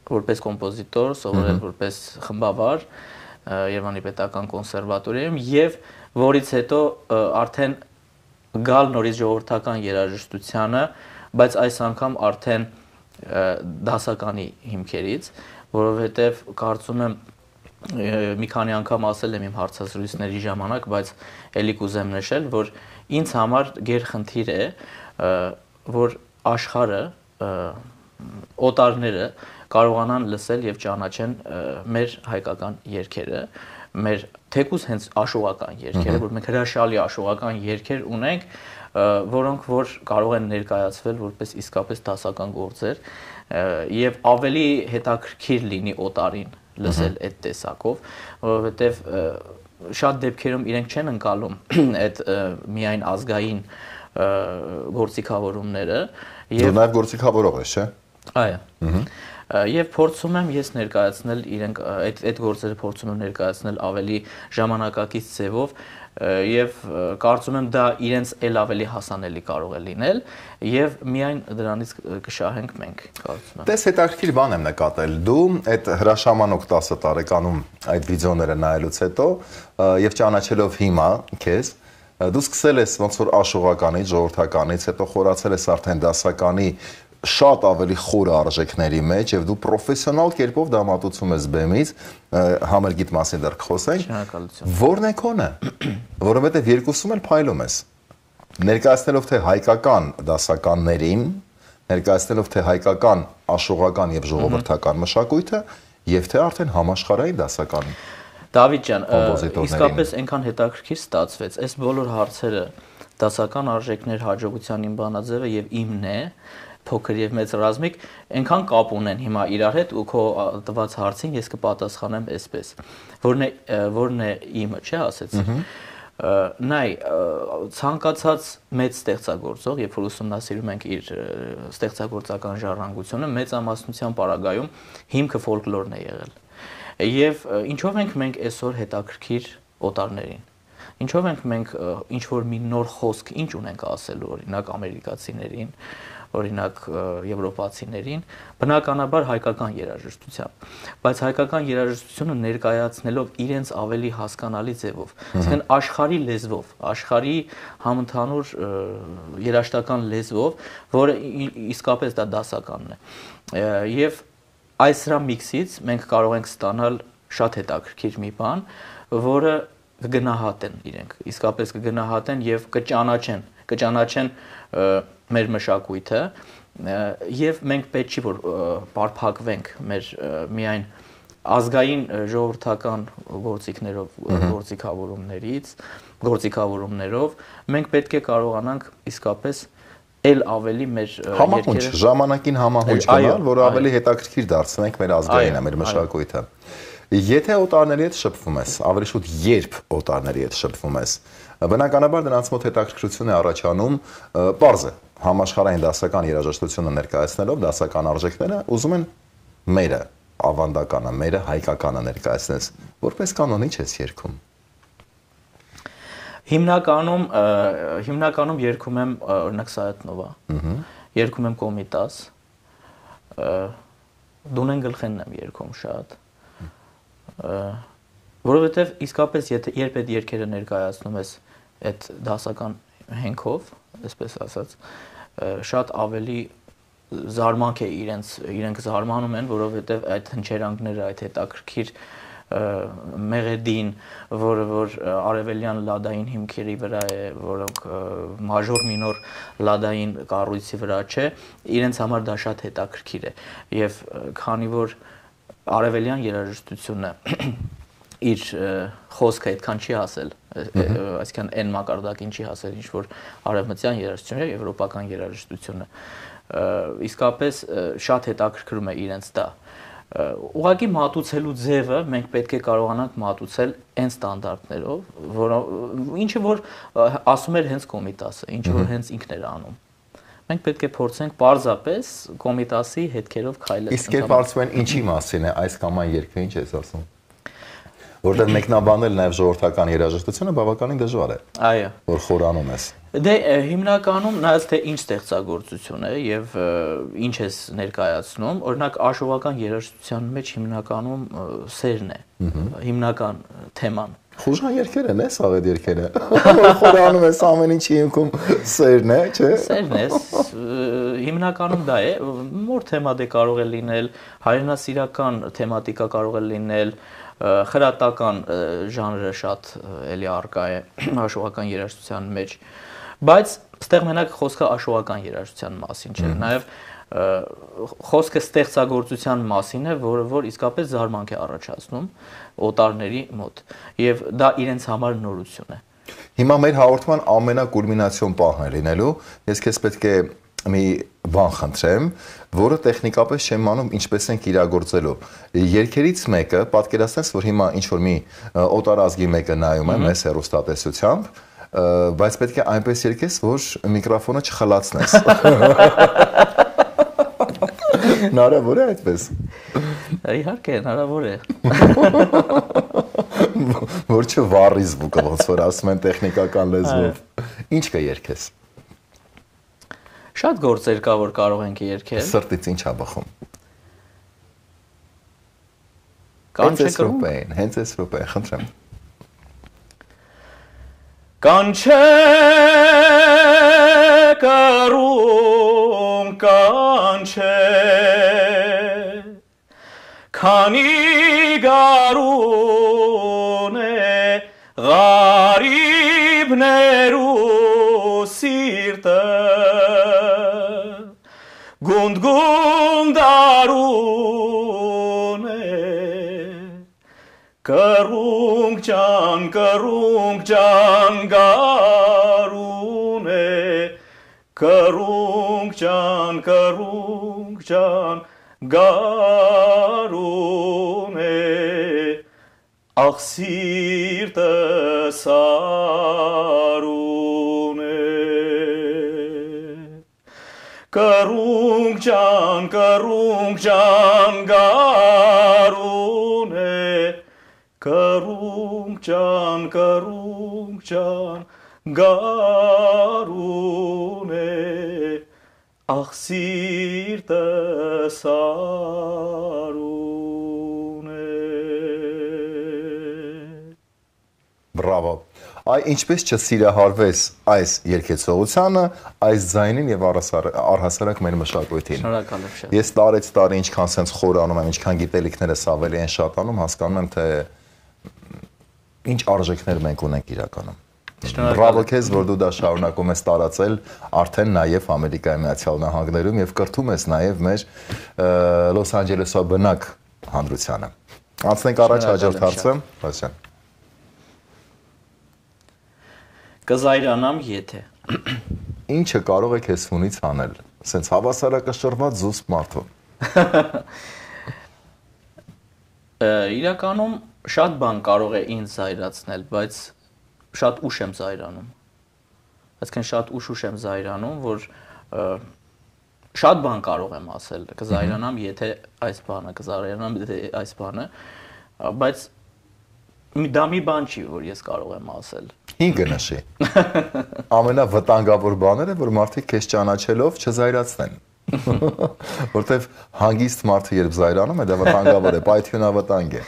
Speaker 1: որպես կոմպոզիտոր, սովորել որպես խմբավար Երևանի պետական կոնսերվատորիայում եւ որից հետո արդեն գալ նորից ժողովրդական երաժշտությանը, բայց այս անգամ արդեն դասականի հիմքերից, որովհետև կարծում եմ մի քանի անգամ ասել եմ իմ հարցազրույցների ժամանակ, բայց ելի կուզեմ նշել, որ ինձ համար գերխնդիր է, որ աշխարհը, օտարները կարողանան լսել եւ ճանաչեն մեր հայկական երգերը, մեր թեկուզ հենց աշխուղական երգերը, որ մենք հրաշալի աշխուղական երգեր ունենք, որոնք որ կարող են ներկայացվել որպես իսկապես դասական գործեր եւ ավելի հետաքրքիր լինի օտարին լսել այդ տեսակով, որովհետեւ շատ դեպքերում իրենք չեն ընկալում այդ միայն ազգային գործիքավորումները
Speaker 2: եւ նաեւ գործիքավորող ես, չէ՞։
Speaker 1: Այո։ Եվ փորձում եմ ես ներկայացնել իրենք այդ այդ գործերը փորձում եմ ներկայացնել ավելի ժամանակակից ձևով եւ կարծում եմ դա իրենց ել ավելի հասանելի կարող է լինել եւ միայն դրանից կշահենք մենք, կարծում եմ։
Speaker 2: Տես հետաքրքիր բան եմ նկատել, դու այդ հրաշամանոք տասը տարեկանում այդ վիդեոները նայելուց հետո եւ ճանաչելով հիմա քեզ դու սկսել ես ոնց որ աշխուղականից, ժողովրդականից, հետո խորացել ես արդեն դասականի շատ ավելի խորը արժեքների մեջ եւ դու պրոֆեսիոնալ կերպով դա մատուցում ես բեմից, համերգիտ մասին դեռ կխոսենք։
Speaker 1: Շնորհակալություն։
Speaker 2: Որն է քոնը, որովհետեւ երկուսում էլ փայլում ես։ Ներկայացնելով թե հայկական դասականներին, ներկայացնելով թե հայկական աշուղական եւ ժողովրդական մշակույթը եւ թե արդեն համաշխարհային դասական։
Speaker 1: Դավիթ ջան, իսկապես այնքան հետաքրքիր ստացվեց, այս բոլոր հարցերը դասական արժեքներ, հաջողության իմ բանաձևը եւ իմն է, փոքր եւ մեծ ռազմիկ, այնքան կապ ունեն հիմա իրար հետ ու քո տված հարցին ես կպատասխանեմ այսպես, որն է որն է իմը, չէ՞ ասեցի։ Նայ, ցանկացած մեծ ստեղծագործող, երբ որ ուսումնասիրում ենք իր ստեղծագործական ժառանգությունը, մեծամասնության պարագայում հիմքը ֆոլկլորն է եղել։ Եվ ինչով ենք մենք այսօր հետաքրքիր օտարներին։ Ինչով ենք մենք ինչ որ մի նոր խոսք ինչ ունենք ասելու օրինակ ամերիկացիներին, օրինակ եվրոպացիներին, բնականաբար հայկական երաժշտությամբ, բայց հայկական երաժշտությունը ներկայացնելով իրենց ավելի հասկանալի ձևով, այսինքն աշխարհի լեզվով, աշխարհի համընդհանուր երաժշտական լեզվով, որը իսկապես դա դասականն է։ Եվ այս սրա միքսից մենք կարող ենք ստանալ շատ հետաքրքիր մի բան, որը կգնահատեն իրենք, իսկապես կգնահատեն եւ կճանաչեն, կճանաչեն մեր մշակույթը եւ մենք պետք չի որ բարփակվենք մեր միայն ազգային ժողովրդական գործիքներով, գործիքավորումներից, գործիքավորումներով, մենք պետք է կարողանանք իսկապես էլ ավելի մեր
Speaker 2: համահունչ, ժամանակին համահունչ գնալ, որ ավելի հետաքրքիր դարձնենք մեր ազգայինը, մեր մշակույթը։ Եթե օտարների հետ շփվում ես, ավելի շուտ երբ օտարների հետ շփվում ես, բնականաբար դրանց մոտ հետաքրքրություն է առաջանում, պարզ է, համաշխարհային դասական երաժշտությունը ներկայացնելով դասական արժեքները ուզում են մերը, ավանդականը, մերը հայկականը ներկայացնես, որպես կանոն ինչ ես երգում։
Speaker 1: Հիմնականում հիմնականում երգում եմ օրինակ Սայաթնովա, երգում եմ Կոմիտաս, Դունեն գլխենն եմ երգում շատ, որովհետև իսկապես երբ այդ երգերը ներկայացնում ես այդ դասական հենքով, այսպես ասած, շատ ավելի զարմանք է իրենց, իրենք զարմանում են, որովհետև այդ հնչերանգները, այդ հետաքրքիր մեղեդին, որը որ արևելյան լադային հիմքերի վրա է, որոնք մաժոր մինոր լադային կառույցի վրա չէ, իրենց համար դա շատ հետաքրքիր է եւ քանի որ արևելյան երաժշտությունը իր խոսքը այդքան չի ասել, այսինքն այն մակարդակին չի ասել, ինչ որ արևմտյան երաժշտությունը, եվրոպական երաժշտությունը, իսկապես շատ հետաքրքրում է իրենց դա։ Ուղղակի մատուցելու ձևը մենք պետք է կարողանանք մատուցել այն ստանդարտներով, որը ինչը որ ասում էր հենց Կոմիտասը, ինչը որ հենց ինքն էր անում։ Մենք պետք է փորձենք պարզապես Կոմիտասի հետքերով քայլել։
Speaker 2: Իսկ երբ հարցում են ինչի մասին է այս կամ այն երգը, ինչ ես ասում։ Որտեղ մեկնաբանել նաև ժողովրդական երաժշտությունը բավականին դժվար է։
Speaker 1: Այո։
Speaker 2: Որ խորանում ես։
Speaker 1: Դե հիմնականում նայած թե ինչ ստեղծագործություն է եւ ինչ ես ներկայացնում, օրինակ աշուղական երաժշտության մեջ հիմնականում սերն է, հիմնական թեման։
Speaker 2: Խուժան երգեր են, էս աղետ երգերը։ Խորանում ես ամեն ինչի հիմքում սերն է, չէ՞։
Speaker 1: Սերն է, հիմնականում դա է, որ թեմա դե կարող է լինել, հայրենասիրական թեմատիկա կարող է լինել, խրատական ժանրը շատ էլի արկա է աշուղական երաժշտության մեջ, բայց ստեղ մենակ խոսքը աշուղական երաժշտության մասին չէ, նաև խոսքը ստեղծագործության մասին է, որը որ իսկապես զարմանք է առաջացնում օտարների մոտ, եւ դա իրենց համար նորություն է։
Speaker 2: Հիմա մեր հաղորդման ամենակուլմինացիոն պահն է լինելու, ես քեզ պետք է մի բան խնդրեմ, որը տեխնիկապես չեմ անում ինչպես ենք իրագործելու։ Երգերից մեկը, պատկերացնես, որ հիմա ինչ-որ մի օտարազգի մեկը նայում է մեզ հեռուստատեսությամբ, բայց պետք է այնպես երգես, որ միկրոֆոնը չխլացնես։ Հնարավոր է այդպես։
Speaker 1: Իհարկե, հնարավոր է։
Speaker 2: Որ չվառի զվուկը, ոնց որ ասում են տեխնիկական լեզվով։ Ինչ կերգես։
Speaker 1: Շատ գործեր կա, որ կարող ենք երգել։
Speaker 2: Սրտից ինչ ա բխում։
Speaker 1: Կանչե
Speaker 2: կրում։ Հենց այս րոպեին, խնդրեմ։
Speaker 1: Կանչե կրում, կանչե, քանի գարուն է, ղարիբներու սի գարուն է Կռունկ ջան, կռունկ ջան, գարուն է Կռունկ ջան, կռունկ ջան, գարուն է Ախ սիրտս արուն է Կռունկ ջան, կռունկ ջան, գարուն է Կռունկ ջան, կռունկ ջան, գարուն է Ախ սիրտս արուն է
Speaker 2: Բրավո։ Այ ինչպես չսիրահարվես այս երգեցողությանը, այս ձայնին եւ առհասարակ մեր մշակույթին։
Speaker 1: Շնորհակալ եմ շատ։
Speaker 2: Ես տարեց տարի ինչքան sense խորանում եմ, ինչքան գիտելիքներս ավելի են շատանում, հասկանում եմ թե ինչ արժեքներ մենք ունենք իրականում։ Բրավո քեզ, որ դու դա շարունակում ես տարածել արդեն նաև Ամերիկայի Միացյալ Նահանգներում եւ կրթում ես նաև մեր Լոս Անջելեսի բնակ հանրությանը։ Անցնենք առաջ հաջորդ հարցը, Ռասյան։
Speaker 1: Կզայրանամ եթե։
Speaker 2: Ինչը կարող է քեզ ֆունից անել, սենց հավասարակշռված զուսպ մարդու։
Speaker 1: Իրականում շատ բան կարող է ինձ զայրացնել, բայց շատ ուշ եմ զայրանում։ Այսինքն շատ ուշ-ուշ եմ զայրանում, որ շատ բան կարող եմ ասել, կզայրանամ, եթե այս բանը, կզայրանամ, եթե այս բանը, բայց դա մի բան չի, որ ես կարող եմ ասել։
Speaker 2: Հինգը նշի։ Ամենավտանգավոր բաները, որ մարդիկ քեզ ճանաչելով չզայրացնեն։ Որտեվ հանգիստ մարդը երբ զայրանում է, դա վտանգավոր է, պայթյունավտանգ է։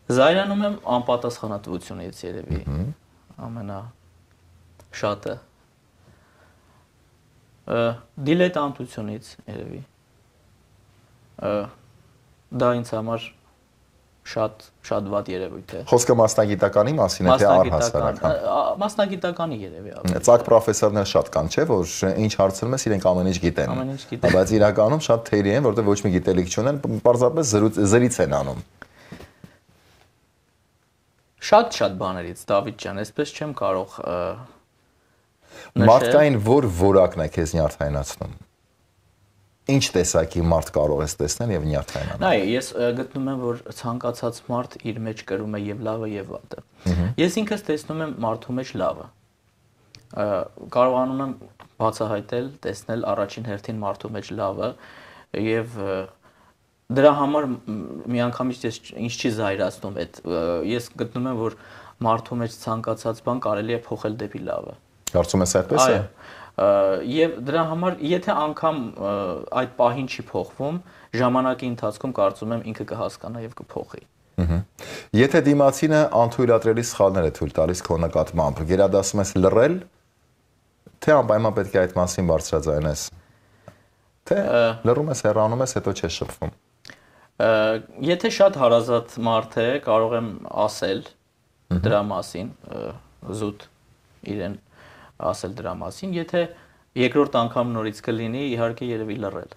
Speaker 1: Զայրանում եմ անպատասխանատվությունից երևի, ամենա շատը, դիլետանտությունից երևի, դա ինձ համար շատ շատ վատ երևույթ է։
Speaker 2: Խոսքը մասնագիտականի մասին է, թե առհասարական։
Speaker 1: Մասնագիտականի երևի ավելի։
Speaker 2: Ծակ պրոֆեսորներ շատ կան, չէ՞, որ ինչ հարցնում ես, իրենք ամեն ինչ գիտեն։
Speaker 1: Ամեն ինչ գիտեն։
Speaker 2: Բայց իրականում շատ թերի են, որտեղ ոչ մի գիտելիք չունեն, պարզապես զրից են անում։
Speaker 1: Շատ-շատ բաներից, Դավիթ ջան, այսպես չեմ կարող նշել։
Speaker 2: Մարդկային որ որակն է քեզ նյարդայնացնում։ Ինչ տեսակի մարդ կարող ես տեսնել եւ նյարդայնանալ։
Speaker 1: Նայ, ես գտնում եմ, որ ցանկացած մարդ իր մեջ կրում է եւ լավը եւ վատը։ Ես ինքս տեսնում եմ մարդու մեջ լավը։ Կարողանում եմ բացահայտել, տեսնել առաջին հերթին մարդու մեջ լավը եւ դրա համար միանգամից ես ինչ չի զայրացնում այդ ես գտնում եմ, որ մարդու մեջ ցանկացած բան կարելի է փոխել դեպի լավը։
Speaker 2: Կարծում ես այդպես է։
Speaker 1: Եվ դրա համար, եթե անգամ այդ պահին չի փոխվում, ժամանակի ընթացքում կարծում եմ ինքը կհասկանա եւ կփոխի։
Speaker 2: Եթե դիմացինը անթույլատրելի սխալներ է թույլ տալիս քո նկատմամբ, գերադասում ես լռել, թե անպայման պետք է այդ մասին բարձրաձայնես։ Թե լռում ես, հեռանում ես, հետո չես շփվում։
Speaker 1: Եթե շատ հարազատ մարդ է, կարող եմ ասել դրա մասին, զուտ իրեն ասել դրա մասին, եթե երկրորդ անգամ նորից կլինի, իհարկե երևի լռել։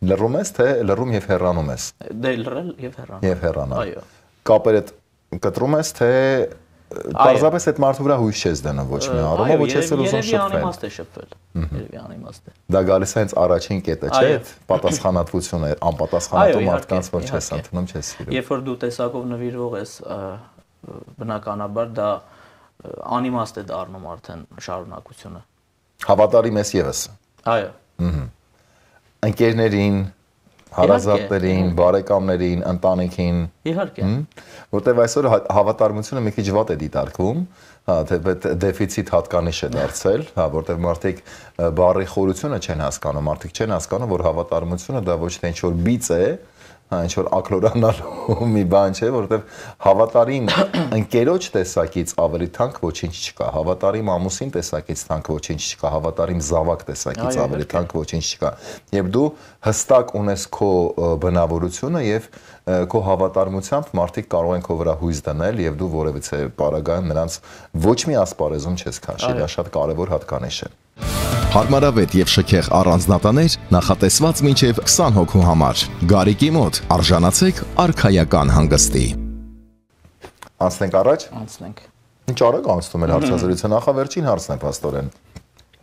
Speaker 2: Լռում ես, թե լռում եւ հեռանում ես։
Speaker 1: Դե լռել եւ հեռանալ։
Speaker 2: Եվ հեռանալ։
Speaker 1: Այո։
Speaker 2: Կապերը կտրում ես, թե պարզապես այդ մարդու վրա հույս չես դնում ոչ մի առումով, ոչ ես ուզում շփվել։
Speaker 1: Երևի անիմաստ է շփվել։ Երևի անիմաստ է։
Speaker 2: Դա գալիս է հենց առաջին կետը, չէ՞, այդ պատասխանատվությունը, անպատասխանատու մարդկանց որ չես ընդունում, չես սիրում։
Speaker 1: Երբ որ դու տեսակով նվիրող ես, բնականաբար դա անիմաստ է դառնում արդեն շարունակությունը։
Speaker 2: Հավատարիմ ես եւս։
Speaker 1: Այո։
Speaker 2: Ընկերներին, հարազատներին, բարեկամներին, ընտանիքին։
Speaker 1: Իհարկե։
Speaker 2: Որտեւ այսօր հավատարմությունը մի քիչ վատ է դիտարկվում, հա, թե դեֆիցիտ հատկանիշ է դարձել, հա, որտեւ մարդիկ բարի խորությունը չեն հասկանում, մարդիկ չեն հասկանում, որ հավատարմությունը դա ոչ թե ինչ-որ բիծ է, ինչ որ ակլորանալու մի բան չէ, որովհետև հավատարիմ ընկերոջ տեսակից ավելի թանկ ոչինչ չկա, հավատարիմ ամուսին տեսակից թանկ ոչինչ չկա, հավատարիմ զավակ տեսակից ավելի թանկ ոչինչ չկա։ Եվ դու հստակ ունես քո բնավորությունը եւ քո հավատարմությամբ մարդիկ կարող են քո վրա հույս դնել եւ դու որևիցե պարագայում նրանց ոչ մի ասպարեզում չես քաշի, դա շատ կարեւոր հատկանիշ է։
Speaker 4: Հարմարավետ եւ շքեղ առանձնատաներ նախատեսված մինչեւ քսան հոգու համար։ Գարիկի մոտ արժանացեք արքայական հանգստի։
Speaker 2: Անցնենք առաջ։
Speaker 1: Անցնենք։
Speaker 2: Ինչ արագ անցնում է հարցազրույցը, նախավերջին հարցն է փաստորեն։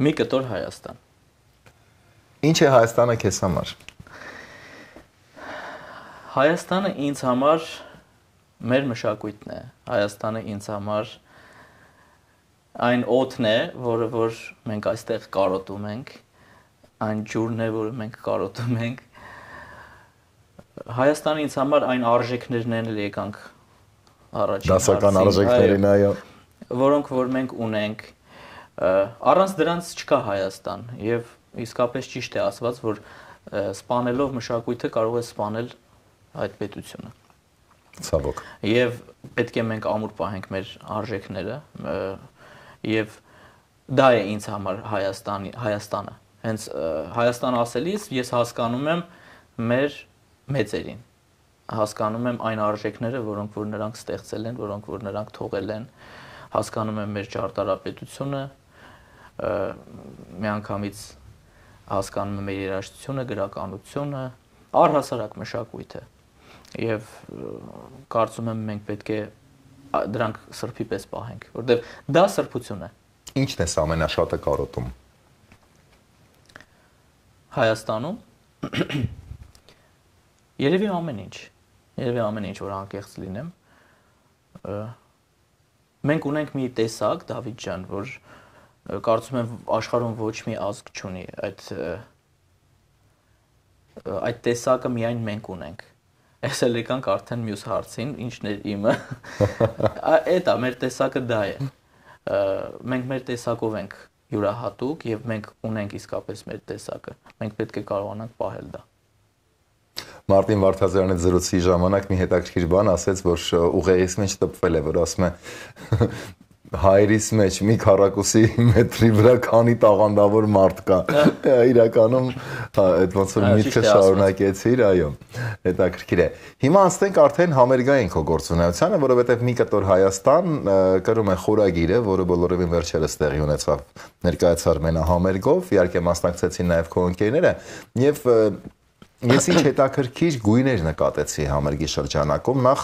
Speaker 1: Մի կտոր Հայաստան։
Speaker 2: Ինչ է Հայաստանը քեզ համար։
Speaker 1: Հայաստանը ինձ համար մեր մշակույթն է։ Հայաստանը ինձ համար այն օդն է, որը որ մենք այստեղ կարոտում ենք, այն ջուրն է, որը մենք կարոտում ենք։ Հայաստանը ինձ համար այն արժեքներն են, էլ եկանք առաջին
Speaker 2: դասական արժեքներին, այո,
Speaker 1: որոնք որ մենք ունենք, առանց դրանց չկա Հայաստան, եւ իսկապես ճիշտ է ասված, որ սպանելով մշակույթը կարող է սպանել այդ պետությունը։
Speaker 2: Ցավոք։
Speaker 1: Եվ պետք է մենք ամուր պահենք մեր արժեքները, եւ դա է ինձ համար Հայաստանի Հայաստանը։ Հենց Հայաստան ասելիս ես հասկանում եմ մեր մեծերին, հասկանում եմ այն արժեքները, որոնք որ նրանք ստեղծել են, որոնք որ նրանք թողել են, հասկանում եմ մեր ճարտարապետությունը, միանգամից հասկանում եմ մեր երաժշտությունը, գրականությունը, առհասարակ մշակույթը։ Եվ կարծում եմ մենք պետք է դրանք սրբի պես պահենք, որտեղ դա սրբություն է։
Speaker 2: Ինչն է ամենաշատը կարոտում
Speaker 1: Հայաստանում։ Երևի ամեն ինչ, երևի ամեն ինչ, որ անկեղծ լինեմ։ Մենք ունենք մի տեսակ, Դավիթ ջան, որ կարծում եմ աշխարհում ոչ մի ազգ չունի այդ այդ տեսակը միայն մենք ունենք։ Ես էլ եկանք արդեն մյուս հարցին, ինչն էր իմը։ Էդ է, մեր տեսակը դա է։ Մենք մեր տեսակով ենք յուրահատուկ եւ մենք ունենք իսկապես մեր տեսակը։ Մենք պետք է կարողանանք պահել դա։
Speaker 2: Մարտին Վարդազարյանի զրույցի ժամանակ մի հետաքրքիր բան ասեց, որ ուղեղից մեջ տպվել է, որ ասում է հայրիս մեջ մի քառակուսի մետրի վրա քանի տաղանդավոր մարդ կա։ Իրականում այդ ոնց որ միտքը շարունակեցիր, այո, հետաքրքիր է։ Հիմա անցնենք արդեն համերգային քո գործունեությանը, որովհետև մի կտոր Հայաստան կրում է խորագիրը, որը բոլորովին վերջերս տեղի ունեցավ ներկայացար մենահամերգով, իհարկե մասնակցեցին նաև քո ընկերները, եւ ես ինչ հետաքրքիր գույներ նկատեցի համերգի շրջանակում, նախ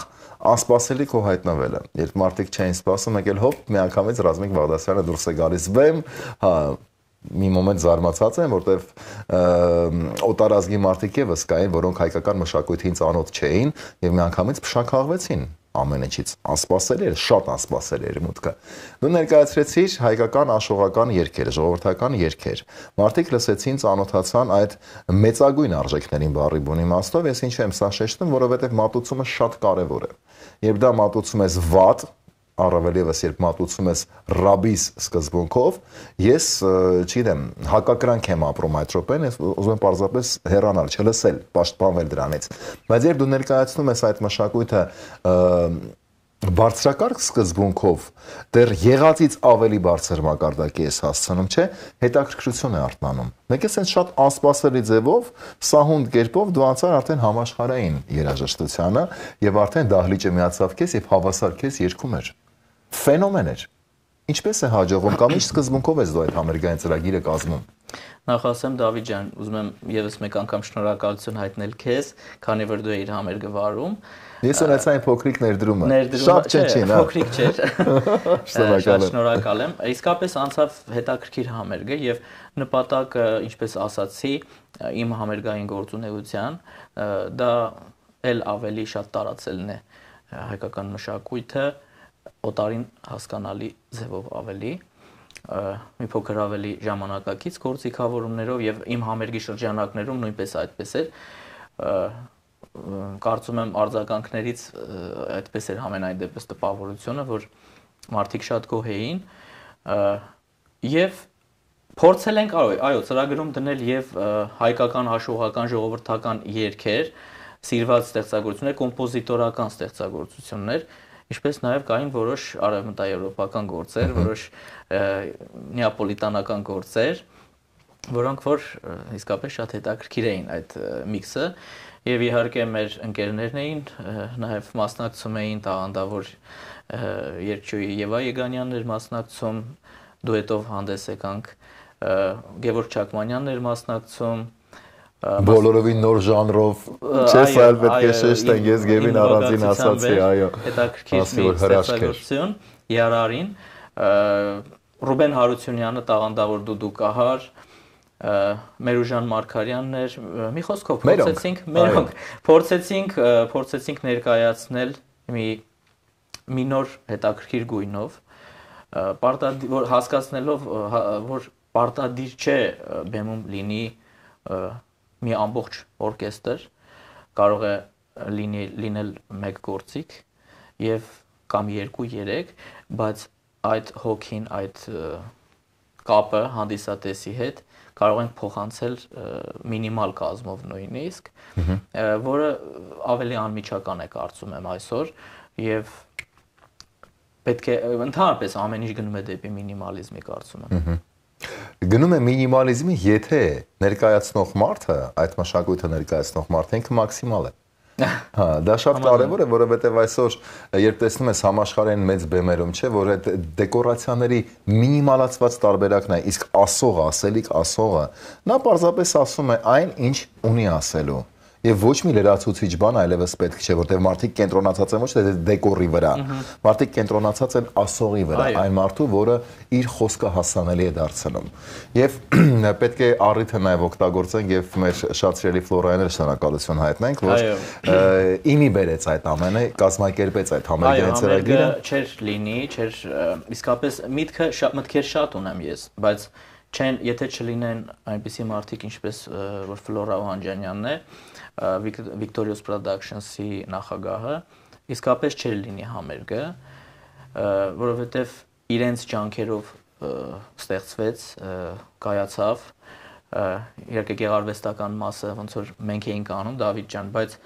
Speaker 2: անսպասելի քո հայտնվելը, երբ մարդիկ չէին սպասում, եկել հոպ, միանգամից Ռազմիկ Բաղդասարյանը դուրս է գալիս վեմ, հա, մի մոմենտ զարմացած եմ, որտեվ օտարազգի մարդիկ եւս կային, որոնք հայկական մշակույթին ծանոթ չէին եւ միանգամից փշաքաղվեցին ամեն ինչից, անսպասելի էր, շատ անսպասելի էր մուտքը։ Դու ներկայացրեցիր հայկական աշխողական երգեր, ժողովրդական երգեր։ Մարդիկ լսեցին, ծանոթացան այդ մեծագույն արժեքներին բառի բուն իմաստով, ես ինչու եմ սա շեշտում, որովհետև մատուցումը շատ կարևոր է։ Երբ դա մատուցում ես վատ, առավել ևս երբ մատուցում ես ռաբիս սկզբունքով, ես, չգիտեմ, հակակրանք եմ ապրում այդ րոպեն, ես ուզում եմ պարզապես հեռանալ, չլսել, պաշտպանվել դրանից։ Բայց երբ դու ներկայացնում ես այդ մշակույթը բարձրակարգ սկզբունքով, դեռ եղածից ավելի բարձր մակարդակի ես հասցնում, չէ, հետաքրքրություն է արթնանում։ Մեկ էս շատ անսպասելի ձևով, սահունդ կերպով դու անցար արդեն համաշխարհային երաժշտությանը եւ արդեն դահլիճը միացավ քեզ եւ հավասար քեզ երգում էր։ Ֆենոմեն էր։ Ինչպես է հաջողվում կամ ինչ սկզբունքով ես դու այդ համերգային ծրագիրը կազմում։
Speaker 1: Նախ ասեմ Դավիթ ջան, ուզում եմ եւս մեկ անգամ շնորհակալություն հայտնել քեզ, քանի որ դու էիր համերգը վարում։
Speaker 2: Ես ունեցա այն փոքրիկ ներդրումը։
Speaker 1: Ներդրումը
Speaker 2: շատ չնչին, հա։
Speaker 1: Փոքրիկ չէր։ Շատ շնորհակալ եմ։ Իսկապես անցավ հետաքրքիր համերգը եւ նպատակը, ինչպես ասացի, իմ համերգային գործունեության դա էլ ավելի շատ տարածելն է հայկական մշակույթը օտարին հասկանալի ձևով ավելի մի փոքր ավելի ժամանակակից գործիքավորումներով եւ իմ համերգի շրջանակներում նույնպես այդպես էր կարծում եմ արձագանքներից այդպես էր համենայն դեպս տպավորությունը որ մարդիկ շատ գոհ էին եւ փորձել ենք այո ծրագրում դնել եւ հայկական հաշողական ժողովրդական երգեր սիրված ստեղծագործություններ կոմպոզիտորական ստեղծագործություններ Ինչպես նաև կային որոշ արևմտաեվրոպական գործեր, որոշ նեապոլիտանական գործեր, որոնք որ իսկապես շատ հետաքրքիր էին այդ միքսը, եւ իհարկե մեր ընկերներն էին, նաև մասնակցում էին տաղանդավոր երգչուհի Եվա Եգանյանն էր մասնակցում, դուետով հանդես եկանք Գևորգ Չակմանյանն էր մասնակցում,
Speaker 2: բոլորովին նոր ժանրով, չես այլ պետք է շեշտեն, ես Գևին առանձին ասացի, այո,
Speaker 1: հետաքրքիր մի ստեղծագործություն, Երարին, Ռուբեն Հարությունյանը տաղանդավոր դուդուկահար, Մերուժան Մարգարյանն էր, մի խոսքով փորձեցինք, մերոնք, փորձեցինք, փորձեցինք ներկայացնել մի մի նոր հետաքրքիր գույնով, որ հասկացնելով, որ պարտադիր չէ բեմում լինի մի ամբողջ օրկեստր, կարող է լինել մեկ գործիք եւ կամ երկու երեք, բայց այդ հոգին, այդ կապը հանդիսատեսի հետ կարող ենք փոխանցել մինիմալ կազմով նույնիսկ, որը ավելի անմիջական է կարծում եմ այսօր եւ պետք է ընդհանրապես ամեն ինչ գնում է դեպի մինիմալիզմի կարծում եմ։
Speaker 2: Գնում է մինիմալիզմի, եթե ներկայացնող մարդը, այդ մշակույթը ներկայացնող մարդը ինքը մաքսիմալ է։ Հա, դա շատ կարևոր է, որովհետև այսօր երբ տեսնում ես համաշխարհային մեծ բեմերում, չէ, որ այդ դեկորացիաների մինիմալացված տարբերակն է, իսկ ասողը, ասելիք ասողը, նա պարզապես ասում է այն, ինչ ունի ասելու։ Եվ ոչ մի լրացուցիչ բան այլևս պետք չէ, որտեղ մարդիկ կենտրոնացած են ոչ թե դեկորի վրա, մարդիկ կենտրոնացած են ասողի վրա, այն մարդու, որը իր խոսքը հասանելի է դարձնում։ Եվ պետք է առիթը նաև օգտագործենք եւ մեր շատ սիրելի Ֆլորայանը շնորհակալություն հայտնենք, որ իմի բերեց այդ ամենը, կազմակերպեց այդ համերգային ծրագիրը։
Speaker 1: Չէր լինի, չէր իսկապես միտքը մտքեր շատ ունեմ ես, բայց չեն, եթե չլինեն այնպիսի մարդիկ, ինչպես որ Ֆլորա Օհանջանյանն է, Victorious Productions-ի նախագահը, իսկապես չէր լինի համերգը, որովհետև իրենց ջանքերով ստեղծվեց, կայացավ, իհարկե գեղարվեստական մասը ոնց որ մենք էինք անում Դավիթ ջան, բայց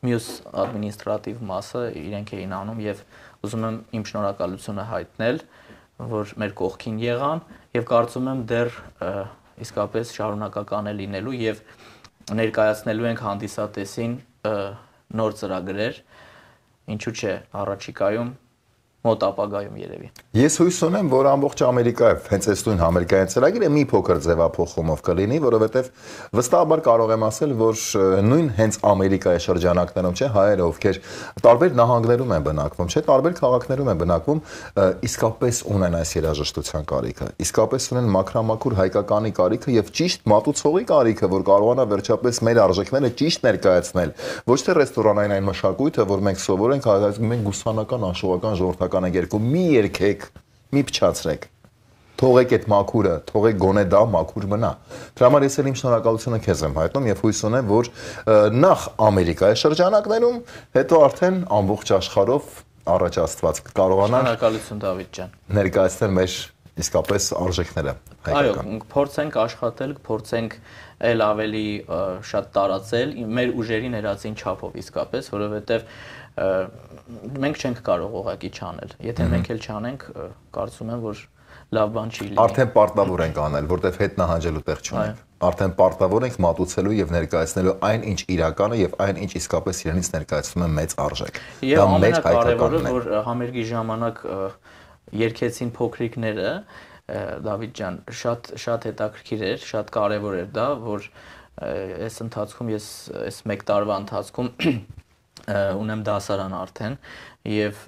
Speaker 1: մյուս ադմինիստրատիվ մասը իրենք էին անում եւ ուզում եմ իմ շնորհակալությունը հայտնել, որ մեր կողքին եղան եւ կարծում եմ դեռ իսկապես շարունակական է լինելու եւ ներկայացնելու ենք հանդիսատեսին նոր ծրագրեր, ինչու՞ չէ, առաջիկայում մոտ ապագայում երևի։
Speaker 2: Ես հույս ունեմ, որ ամբողջ Ամերիկայով հենց այս նույն համերգային ծրագիրը մի փոքր ձևափոխումով կլինի, որովհետև վստահաբար կարող եմ ասել, որ նույն հենց Ամերիկայի շրջանակներում, չէ, հայերը, ովքեր տարբեր նահանգներում են բնակվում, չէ, տարբեր քաղաքներում են բնակվում, իսկապես ունեն այս երաժշտության կարիքը, իսկապես ունեն մաքրամաքուր հայկականի կարիքը եւ ճիշտ մատուցողի կարիքը, որ կարողանա վերջապես մեր արժեքները ճիշտ ներկայացնել, ոչ թե ռեստորանային այն մշակույթը, որ մենք սովոր ենք, մենք գուսանական, անշողական ժողովրդական երկում մի երկեք, մի փչացրեք, թողեք այդ մաքուրը, թողեք գոնե դա մաքուր մնա։ Դրա համար ես էլ իմ շնորհակալությունը քեզ եմ հայտնում եւ հույս ունեմ, որ նախ Ամերիկայի շրջանակներում, հետո արդեն ամբողջ աշխարհով առաջ Աստված կարողանան
Speaker 1: շնորհակալություն Դավիթ ջան
Speaker 2: ներկայացնել մեր իսկապես արժեքները հայկական։
Speaker 1: Այո, փորձենք աշխատել, փորձենք այլ ավելի շատ տարածել մեր ուժերի ներածին չափով իսկապես, որովհետեւ մենք չենք կարող ուղղակի չանել։ Եթե մենք էլ չանենք, կարծում եմ, որ լավ բան չի լինի։
Speaker 2: Արդեն պարտավոր ենք անել, որտեվ հետ նահանջելու տեղ չունենք։ Արդեն պարտավոր ենք մատուցելու եւ ներկայացնելու այն, ինչ իրականը եւ այն, ինչ իսկապես իրենից ներկայացնում է մեծ արժեք։
Speaker 1: Դա մեր հայկականն է։ Որ համերգի ժամանակ երգեցին փոքրիկները, Դավիթ ջան, շատ շատ հետաքրքիր էր, շատ կարեւոր էր դա, որ այս ընթացքում ես այս մեկ տարվա ընթացքում ունեմ դասարան արդեն եւ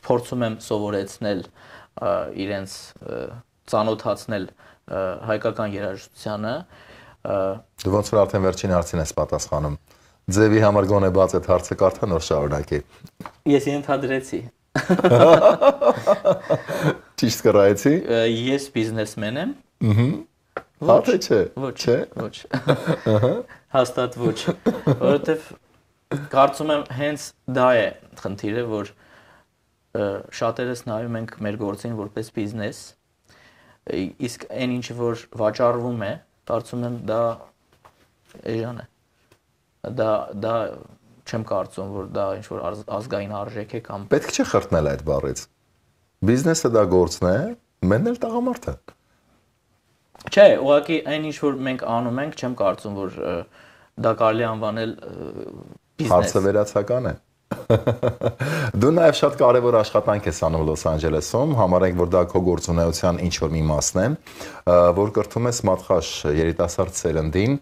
Speaker 1: փորձում եմ սովորեցնել իրենց ծանոթացնել հայկական երաժշտությանը։
Speaker 2: Դու ոնց որ արդեն վերջին հարցին ես պատասխանում։ Ձևի համար գոնե բաց այդ հարցը կարդա նոր շարունակի։
Speaker 1: Ես ենթադրեցի։
Speaker 2: Ճիշտ կռայեցի։
Speaker 1: Ես բիզնեսմեն եմ։
Speaker 2: Ահա։ Հա թե չէ։
Speaker 1: Ոչ, ոչ։ Ահա։ Հաստատ ոչ, որովհետեւ կարծում եմ հենց դա է խնդիրը, որ շատերս նայում ենք մեր գործին որպես բիզնես, իսկ այն ինչը որ վաճառվում է, կարծում եմ դա էժան է։ Դա դա չեմ կարծում, որ դա ինչ որ ազգային արժեք է կամ
Speaker 2: պետք չէ խրտնել այդ բառից։ Բիզնեսը դա գործն է, մենն էլ տղամարդը։
Speaker 1: Չէ, ուղղակի այն ինչ որ մենք անում ենք, չեմ կարծում, որ դա կարելի անվանել բիզնես։
Speaker 2: Հարցը վերացական է։ Դու նաև շատ կարևոր աշխատանք ես անում Լոս Անջելեսում, համարենք, որ դա քո գործունեության ինչ-որ մի մասն է, որ կրթում ես մատխաշ երիտասարդ սերնդին,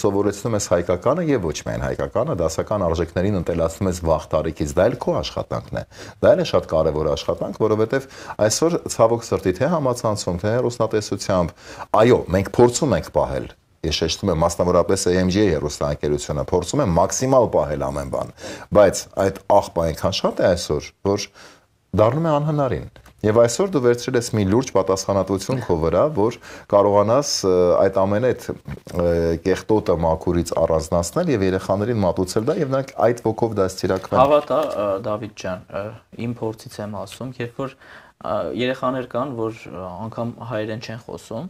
Speaker 2: սովորեցնում ես հայկականը եւ ոչ միայն հայկականը, դասական արժեքներին ընտելացնում ես վաղ տարիքից, դա էլ քո աշխատանքն է։ Դա էլ է շատ կարևոր աշխատանք, որովհետեւ այսօր ցավոք սրտի թե համացանցում, թե հեռուստատեսությամբ, այո, մենք փորձում ենք պահել Ես շեշտում եմ մասնավորապես A M G հեռուստաընկերությունը փորձում է մաքսիմալ պահել ամեն բան, բայց այդ աղբը այնքան շատ է այսօր, որ դառնում է անհնարին։ Եվ այսօր դու վերցրել ես մի լուրջ պատասխանատվություն քո վրա, որ կարողանաս այդ ամեն այդ կեղտոտը մաքուրից առանձնացնել եւ երեխաներին մատուցել դա եւ նրանք այդ ոգով դաստիարակվեն։
Speaker 1: Հավատա Դավիթ ջան, իմ փորձից եմ ասում, երբ որ երեխաներ կան, որ անգամ հայերեն չեն խոսում,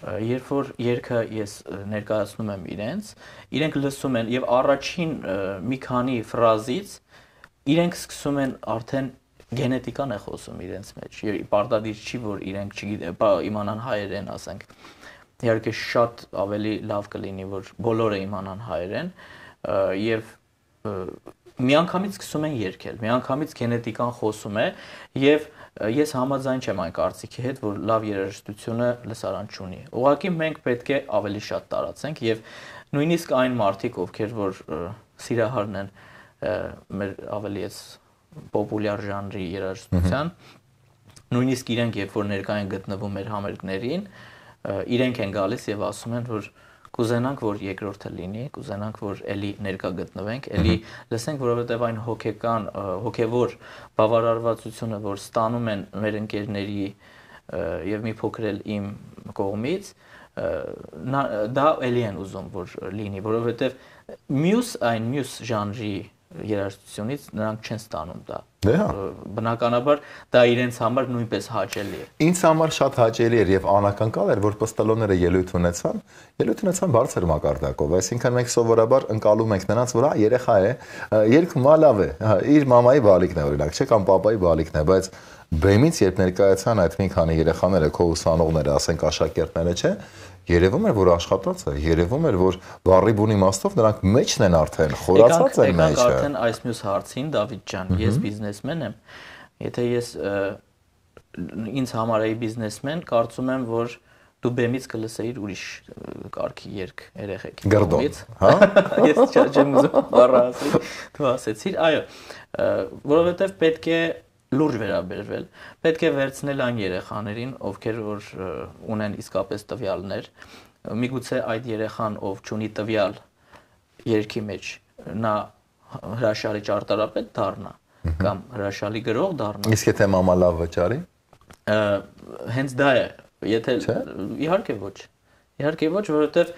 Speaker 1: Երբ որ երգը ես ներկայացնում եմ իրենց, իրենք լսում են եւ առաջին մի քանի ֆրազից իրենք սկսում են արդեն գենետիկան է խոսում իրենց մեջ։ Պարտադիր չի, որ իրենք չգիտեն, իմանան հայերեն, ասենք։ Իհարկե շատ ավելի լավ կլինի, որ բոլորը իմանան հայերեն եւ միանգամից սկսում են երգել, միանգամից գենետիկան խոսում է եւ Ես համաձայն չեմ այն կարծիքի հետ, որ լավ երաժշտությունը լսարան չունի։ Ուղղակի մենք պետք է ավելի շատ տարածենք եւ նույնիսկ այն մարդիկ, ովքեր որ սիրահարն են մեր ավելի էս պոպուլյար ժանրի երաժշտության, նույնիսկ իրենք երբ որ ներկա են գտնվում մեր համերգներին, իրենք են գալիս եւ ասում են, որ Կուզենանք, որ երկրորդը լինի, կուզենանք, որ էլի ներկա գտնվենք, էլի լսենք, որովհետև այն հոգեկան, հոգևոր բավարարվածությունը, որ ստանում են մեր ընկերների եւ մի փոքր էլ իմ կողմից, դա էլի են ուզում, որ լինի, որովհետև մյուս այն մյուս ժանրի երաժշտությունից նրանք չեն ստանում դա։ Բնականաբար դա իրենց համար նույնպես հաճելի է։
Speaker 2: Ինձ համար շատ հաճելի էր եւ անակնկալ էր, որ պստոլոները ելույթ ունեցան, ելույթ ունեցան բարձր մակարդակով, այսինքն մենք սովորաբար ընկալում ենք նրանց, որ հա երեխա է, երգում լավ է, հա իր մամայի բալիկն է օրինակ, չէ՞ կամ պապայի բալիկն է, բայց բեմից երբ ներկայացան այդ մի քանի երեխաները, քո ուսանողները, ասենք աշակերտները, չէ՞, երևում էր, որ աշխատած է, երևում էր, որ բառի բուն իմաստով նրանք մեջն են արդեն, խորացած են մեջը։
Speaker 1: Եկանք արդեն այս մյուս հարցին, Դավիթ ջան, ես բիզնեսմեն եմ, եթե ես ինձ համար էի բիզնեսմեն, կարծում եմ, որ դու բեմից կլսեիր ուրիշ կարգի երգ երեխեքի կողմից։ Հա։ Ես չեմ ուզում բառը ասել, դու ասեցիր, այո, որովհետև պետք է լուրջ վերաբերվել, պետք է վերցնել այն երեխաներին, ովքեր որ ունեն իսկապես տվյալներ, միգուցե այդ երեխան, ով չունի տվյալ երգի մեջ, նա հրաշալի ճարտարապետ դառնա կամ հրաշալի գրող դառնա։
Speaker 2: Իսկ եթե մամա լավ վճարի։
Speaker 1: Հենց դա է, եթե իհարկե ոչ։ Իհարկե ոչ, որովհետև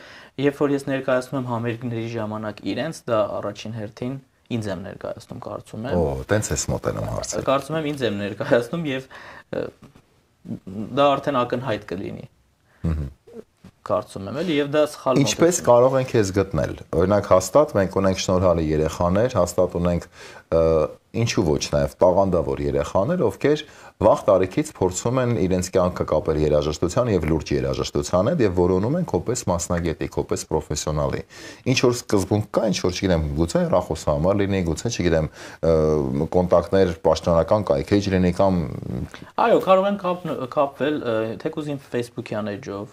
Speaker 1: երբ որ ես ներկայացնում եմ համերգների ժամանակ իրենց, դա առաջին հերթին ինձ եմ ներկայացնում, կարծում եմ։
Speaker 2: Օ, տենց ես մոտենում հարցը։
Speaker 1: Կարծում եմ ինձ եմ ներկայացնում եւ դա արդեն ակնհայտ կլինի։ Կարծում եմ էլի եւ դա սխալ մոտեցում։
Speaker 2: Ինչպես կարող ենք քեզ գտնել։ Օրինակ հաստատ մենք ունենք շնորհալի երեխաներ, հաստատ ունենք ինչու ոչ նաև տաղանդավոր երեխաներ, ովքեր վաղ տարիքից փորձում են իրենց կյանքը կապել երաժշտության եւ լուրջ երաժշտության հետ եւ որոնում են կոպես մասնագետի, կոպես պրոֆեսիոնալի։ Ինչ որ սկզբունք կա, ինչ որ չգիտեմ, գուցե ռախոսամար լինի, գուցե չգիտեմ, կոնտակտներ պաշտոնական կայքեջ լինի կամ
Speaker 1: Այո, կարող են կապվել թեկուզ իմ Facebook-յան էջով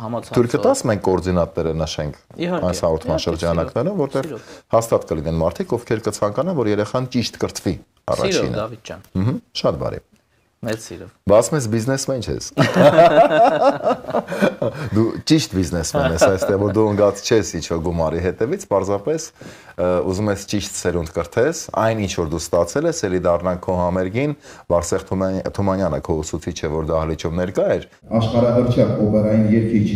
Speaker 1: համացանցով։
Speaker 2: Թույլ կտաս մենք կոորդինատները նշենք այս հաղորդման շրջանակներում, որտեղ հաստատ կլինեն մարդիկ, ովքեր կցանկանան, որ երեխան ճիշտ կրթվի առաջինը։
Speaker 1: Սիրով Դավիթ ջան։
Speaker 2: Ահա, շատ բարի։
Speaker 1: Մեծ սիրով։
Speaker 2: Բաս մեզ բիզնեսմեն ես։ Դու ճիշտ բիզնեսմեն ես, այստեղ որ դու ընկած չես ինչ-որ գումարի հետևից, պարզապես ուզում ես ճիշտ սերունդ կրթես, այն ինչ որ դու ստացել ես, ելի դառնանք քո համերգին, Վարսեղ Թումանյանը քո ուսուցիչը, որ դահլիճում ներկա էր։
Speaker 6: Աշխարհահռչակ օպերային երգիչ,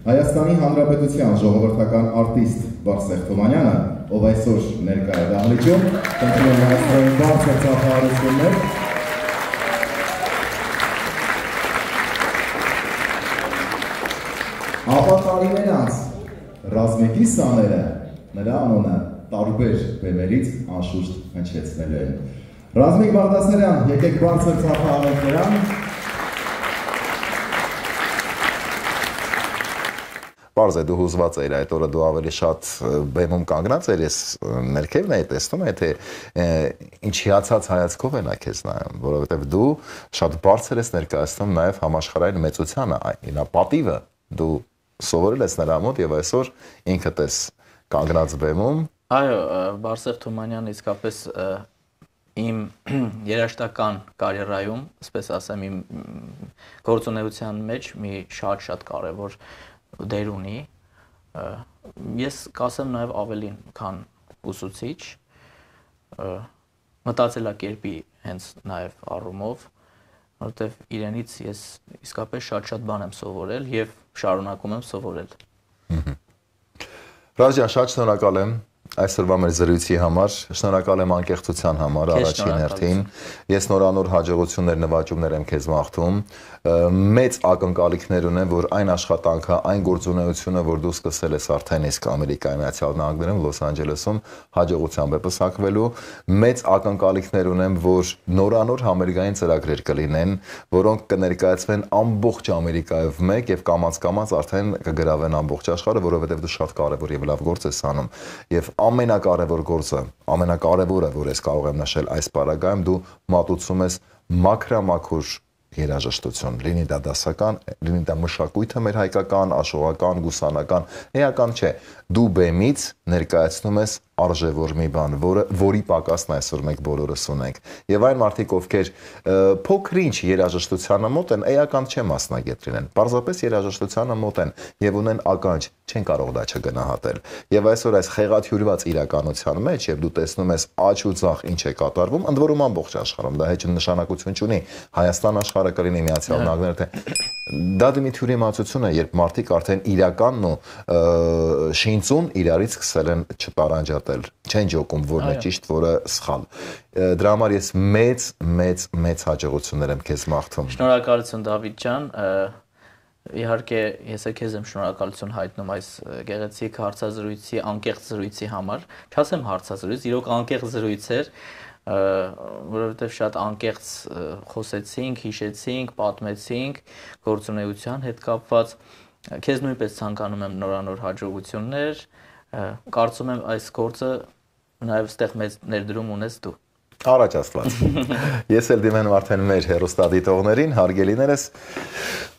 Speaker 6: Հայաստանի Հանրապետության ժողովրդական արտիստ Վարսեղ Թումանյանը, ով այսօր ներկա է դահլիճում, խնդրում եմ հայաստանյան բարձր ծափահարություններ։ Ապա տարիներ անց Ռազմիկի սաները նրա անունը տարբեր բեմերից անշուշտ հնչեցնելու են։ Ռազմիկ Բաղդասարյան, եկեք բարձր ծափահարենք նրան։
Speaker 2: Պարզ է դու հուզված էիր այդ օրը, դու ավելի շատ բեմում կանգնած էիր, ես ներքևն էի տեսնում, թե ինչ հիացած հայացքով են քեզ նայում, որովհետև դու շատ բարձր ես ներկայացնում նաև համաշխարհային մեծությանը, այն պատիվը դու սովորել ես նրա մոտ եւ այսօր ինքդ ես կանգնած բեմում։
Speaker 1: Այո, Բարսեղ Թումանյանը իսկապես իմ երաժշտական կարիերայում, ասես ասեմ, իմ գործունեության մեջ մի շատ-շատ կարևոր դեր ունի։ Ես կասեմ նաև ավելին, քան ուսուցիչ, մտածելակերպի հենց նաև առումով, որովհետև իրենից ես իսկապես շատ-շատ բան եմ սովորել եւ շարունակում եմ սովորել։
Speaker 2: Ռազյան, շատ շնորհակալ եմ այսօրվա մեր զրույցի համար, շնորհակալ եմ անկեղծության համար առաջին հերթին։ Ես նորանոր հաջողություններ, նվաճումներ եմ քեզ մաղթում։ Մեծ ակնկալիքներ ունեմ, որ այն աշխատանքը, այն գործունեությունը, որ դու սկսել ես արդեն իսկ Ամերիկայի Միացյալ Նահանգներում, Լոս Անջելեսում հաջողությամբ է պսակվելու։ Մեծ ակնկալիքներ ունեմ, որ նորանոր համերգային ծրագրեր կլինեն, որոնք կներկայացվեն ամբողջ Ամերիկայով մեկ եւ կամաց-կամաց արդեն կգրավեն ամբողջ աշխարհը, որովհետեւ դու շատ կարեւոր եւ լավ գործ ես անում։ Եվ ամենակարևոր գործը, ամենակարևորը, որ ես կարող եմ նշել այս պարագայում, դու մատուցում ես մաքրամաքուր երաժշտություն, լինի դա դասական, լինի դա մշակույթը մեր հայկական, աշխուհական, գուսանական, էական չէ, դու բեմից ներկայացնում ես արժևոր մի բան, որը որի պակասն այսօր մենք բոլորս ունենք։ Եվ այն մարդիկ, ովքեր փոքր-ինչ երաժշտությանը մոտ են, էական չէ մասնագետ լինեն, պարզապես երաժշտությանը մոտ են եւ ունեն ականջ, չեն կարող դա չգնահատել։ Եվ այսօր այս խեղաթյուրված իրականության մեջ, եւ դու տեսնում ես աճ ու ցախ ինչ է կատարվում, ընդ որում ամբողջ աշխարհում, դա հեչ նշանակություն չունի, Հայաստան աշխարհը կլինի, Միացյալ Նահանգները, թե դա դիմի թյուրիմացություն է, երբ մարդիկ արդեն իրականն ու շինծուն իրարից սկսել են չտարանջատել, չեն ջոկում որն է ճիշտ, որը սխալ։ Դրա համար ես մեծ, մեծ, մեծ հաջողություններ եմ քեզ մաղթում։
Speaker 1: Շնորհակալություն Դավիթ ջան, իհարկե ես քեզ եմ շնորհակալություն հայտնում այս գեղեցիկ հարցազրույցի, անկեղծ զրույցի համար, չասեմ հարցազրույց, իրոք անկեղծ զրույց էր, որովհետև շատ անկեղծ խոսեցինք, հիշեցինք, պատմեցինք գործունեության հետ կապված։ Քեզ նույնպես ցանկանում եմ նորանոր հաջողություններ, կարծում եմ այս գործը նաև ստեղ մեծ ներդրում ունես դու։
Speaker 2: Առաջ Աստված։ Ես էլ դիմեմ արդեն մեր հեռուստադիտողներին, հարգելիներս,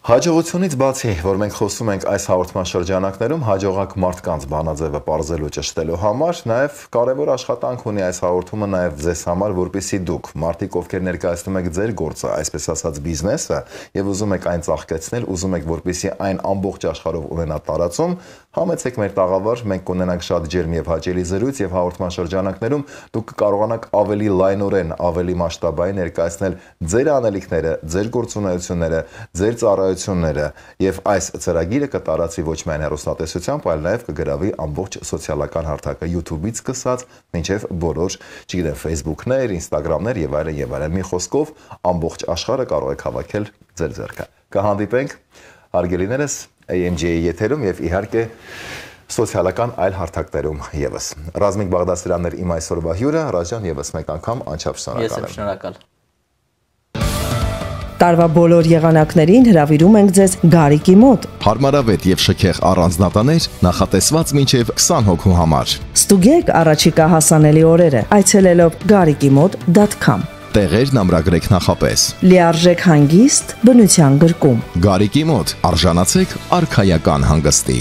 Speaker 2: հաջողությունից բացի, որ մենք խոսում ենք այս հաղորդման շրջանակներում, հաջողակ մարդկանց բանաձևը պարզելու ճշտելու համար, նաև կարևոր աշխատանք ունի այս հաղորդումը նաև ձեզ համար, որպեսզի դուք, մարդիկ, ովքեր ներկայացնում եք ձեր գործը, այսպես ասած բիզնեսը, եւ ուզում եք այն ծաղկեցնել, ուզում եք, որպեսզի այն ամբողջ աշխարհով ունենա տարածում, համեցեք մեր տաղավար, մենք կունենանք շատ ջերմ եւ հաճելի զրույց եւ հաղորդման շրջանակներում դուք կկարողանաք ավելի լայնորեն, ավելի մասշտաբային ներկայացնել ձեր անելիքները, ձեր գործունեությունները, ձեր ծառայությունները եւ այս ծրագիրը կտարածվի ոչ միայն հեռուստատեսությամբ, այլ նաեւ կգրավի ամբողջ սոցիալական հարթակը YouTube-ից սկսած մինչեւ բոլոր, չգիտեմ, Facebook-ներ, Instagram-ներ եւ այլն եւ այլն։ Մի խոսքով ամբողջ աշխարհը կարող եք հավաքել ձեր ձեռքը։ Կհանդիպենք, հարգելիներս, A M G-ի եթերում եւ իհարկե սոցիալական այլ հարթակներում եւս։ Ռազմիկ Բաղդասարյանն էր իմ այսօրվա հյուրը, Ռազյան եւս մեկ անգամ անչափ շնորհակալ եմ։
Speaker 1: Ես եմ շնորհակալ։
Speaker 3: Տարվա բոլոր եղանակներին հրավիրում ենք ձեզ Գարիկի մոտ։
Speaker 4: Հարմարավետ եւ շքեղ առանձնատաներ նախատեսված մինչեւ քսան հոգու համար։
Speaker 3: Ստուգեք առաջիկա հասանելի օրերը այցելելով գարիկի մոտ դոտ com։
Speaker 4: Տեղերն ամրագրեք նախապես։
Speaker 3: Լիարժեք հանգիստ բնության գրկում։
Speaker 4: Գարիկի մոտ արժանացեք արքայական հանգստի։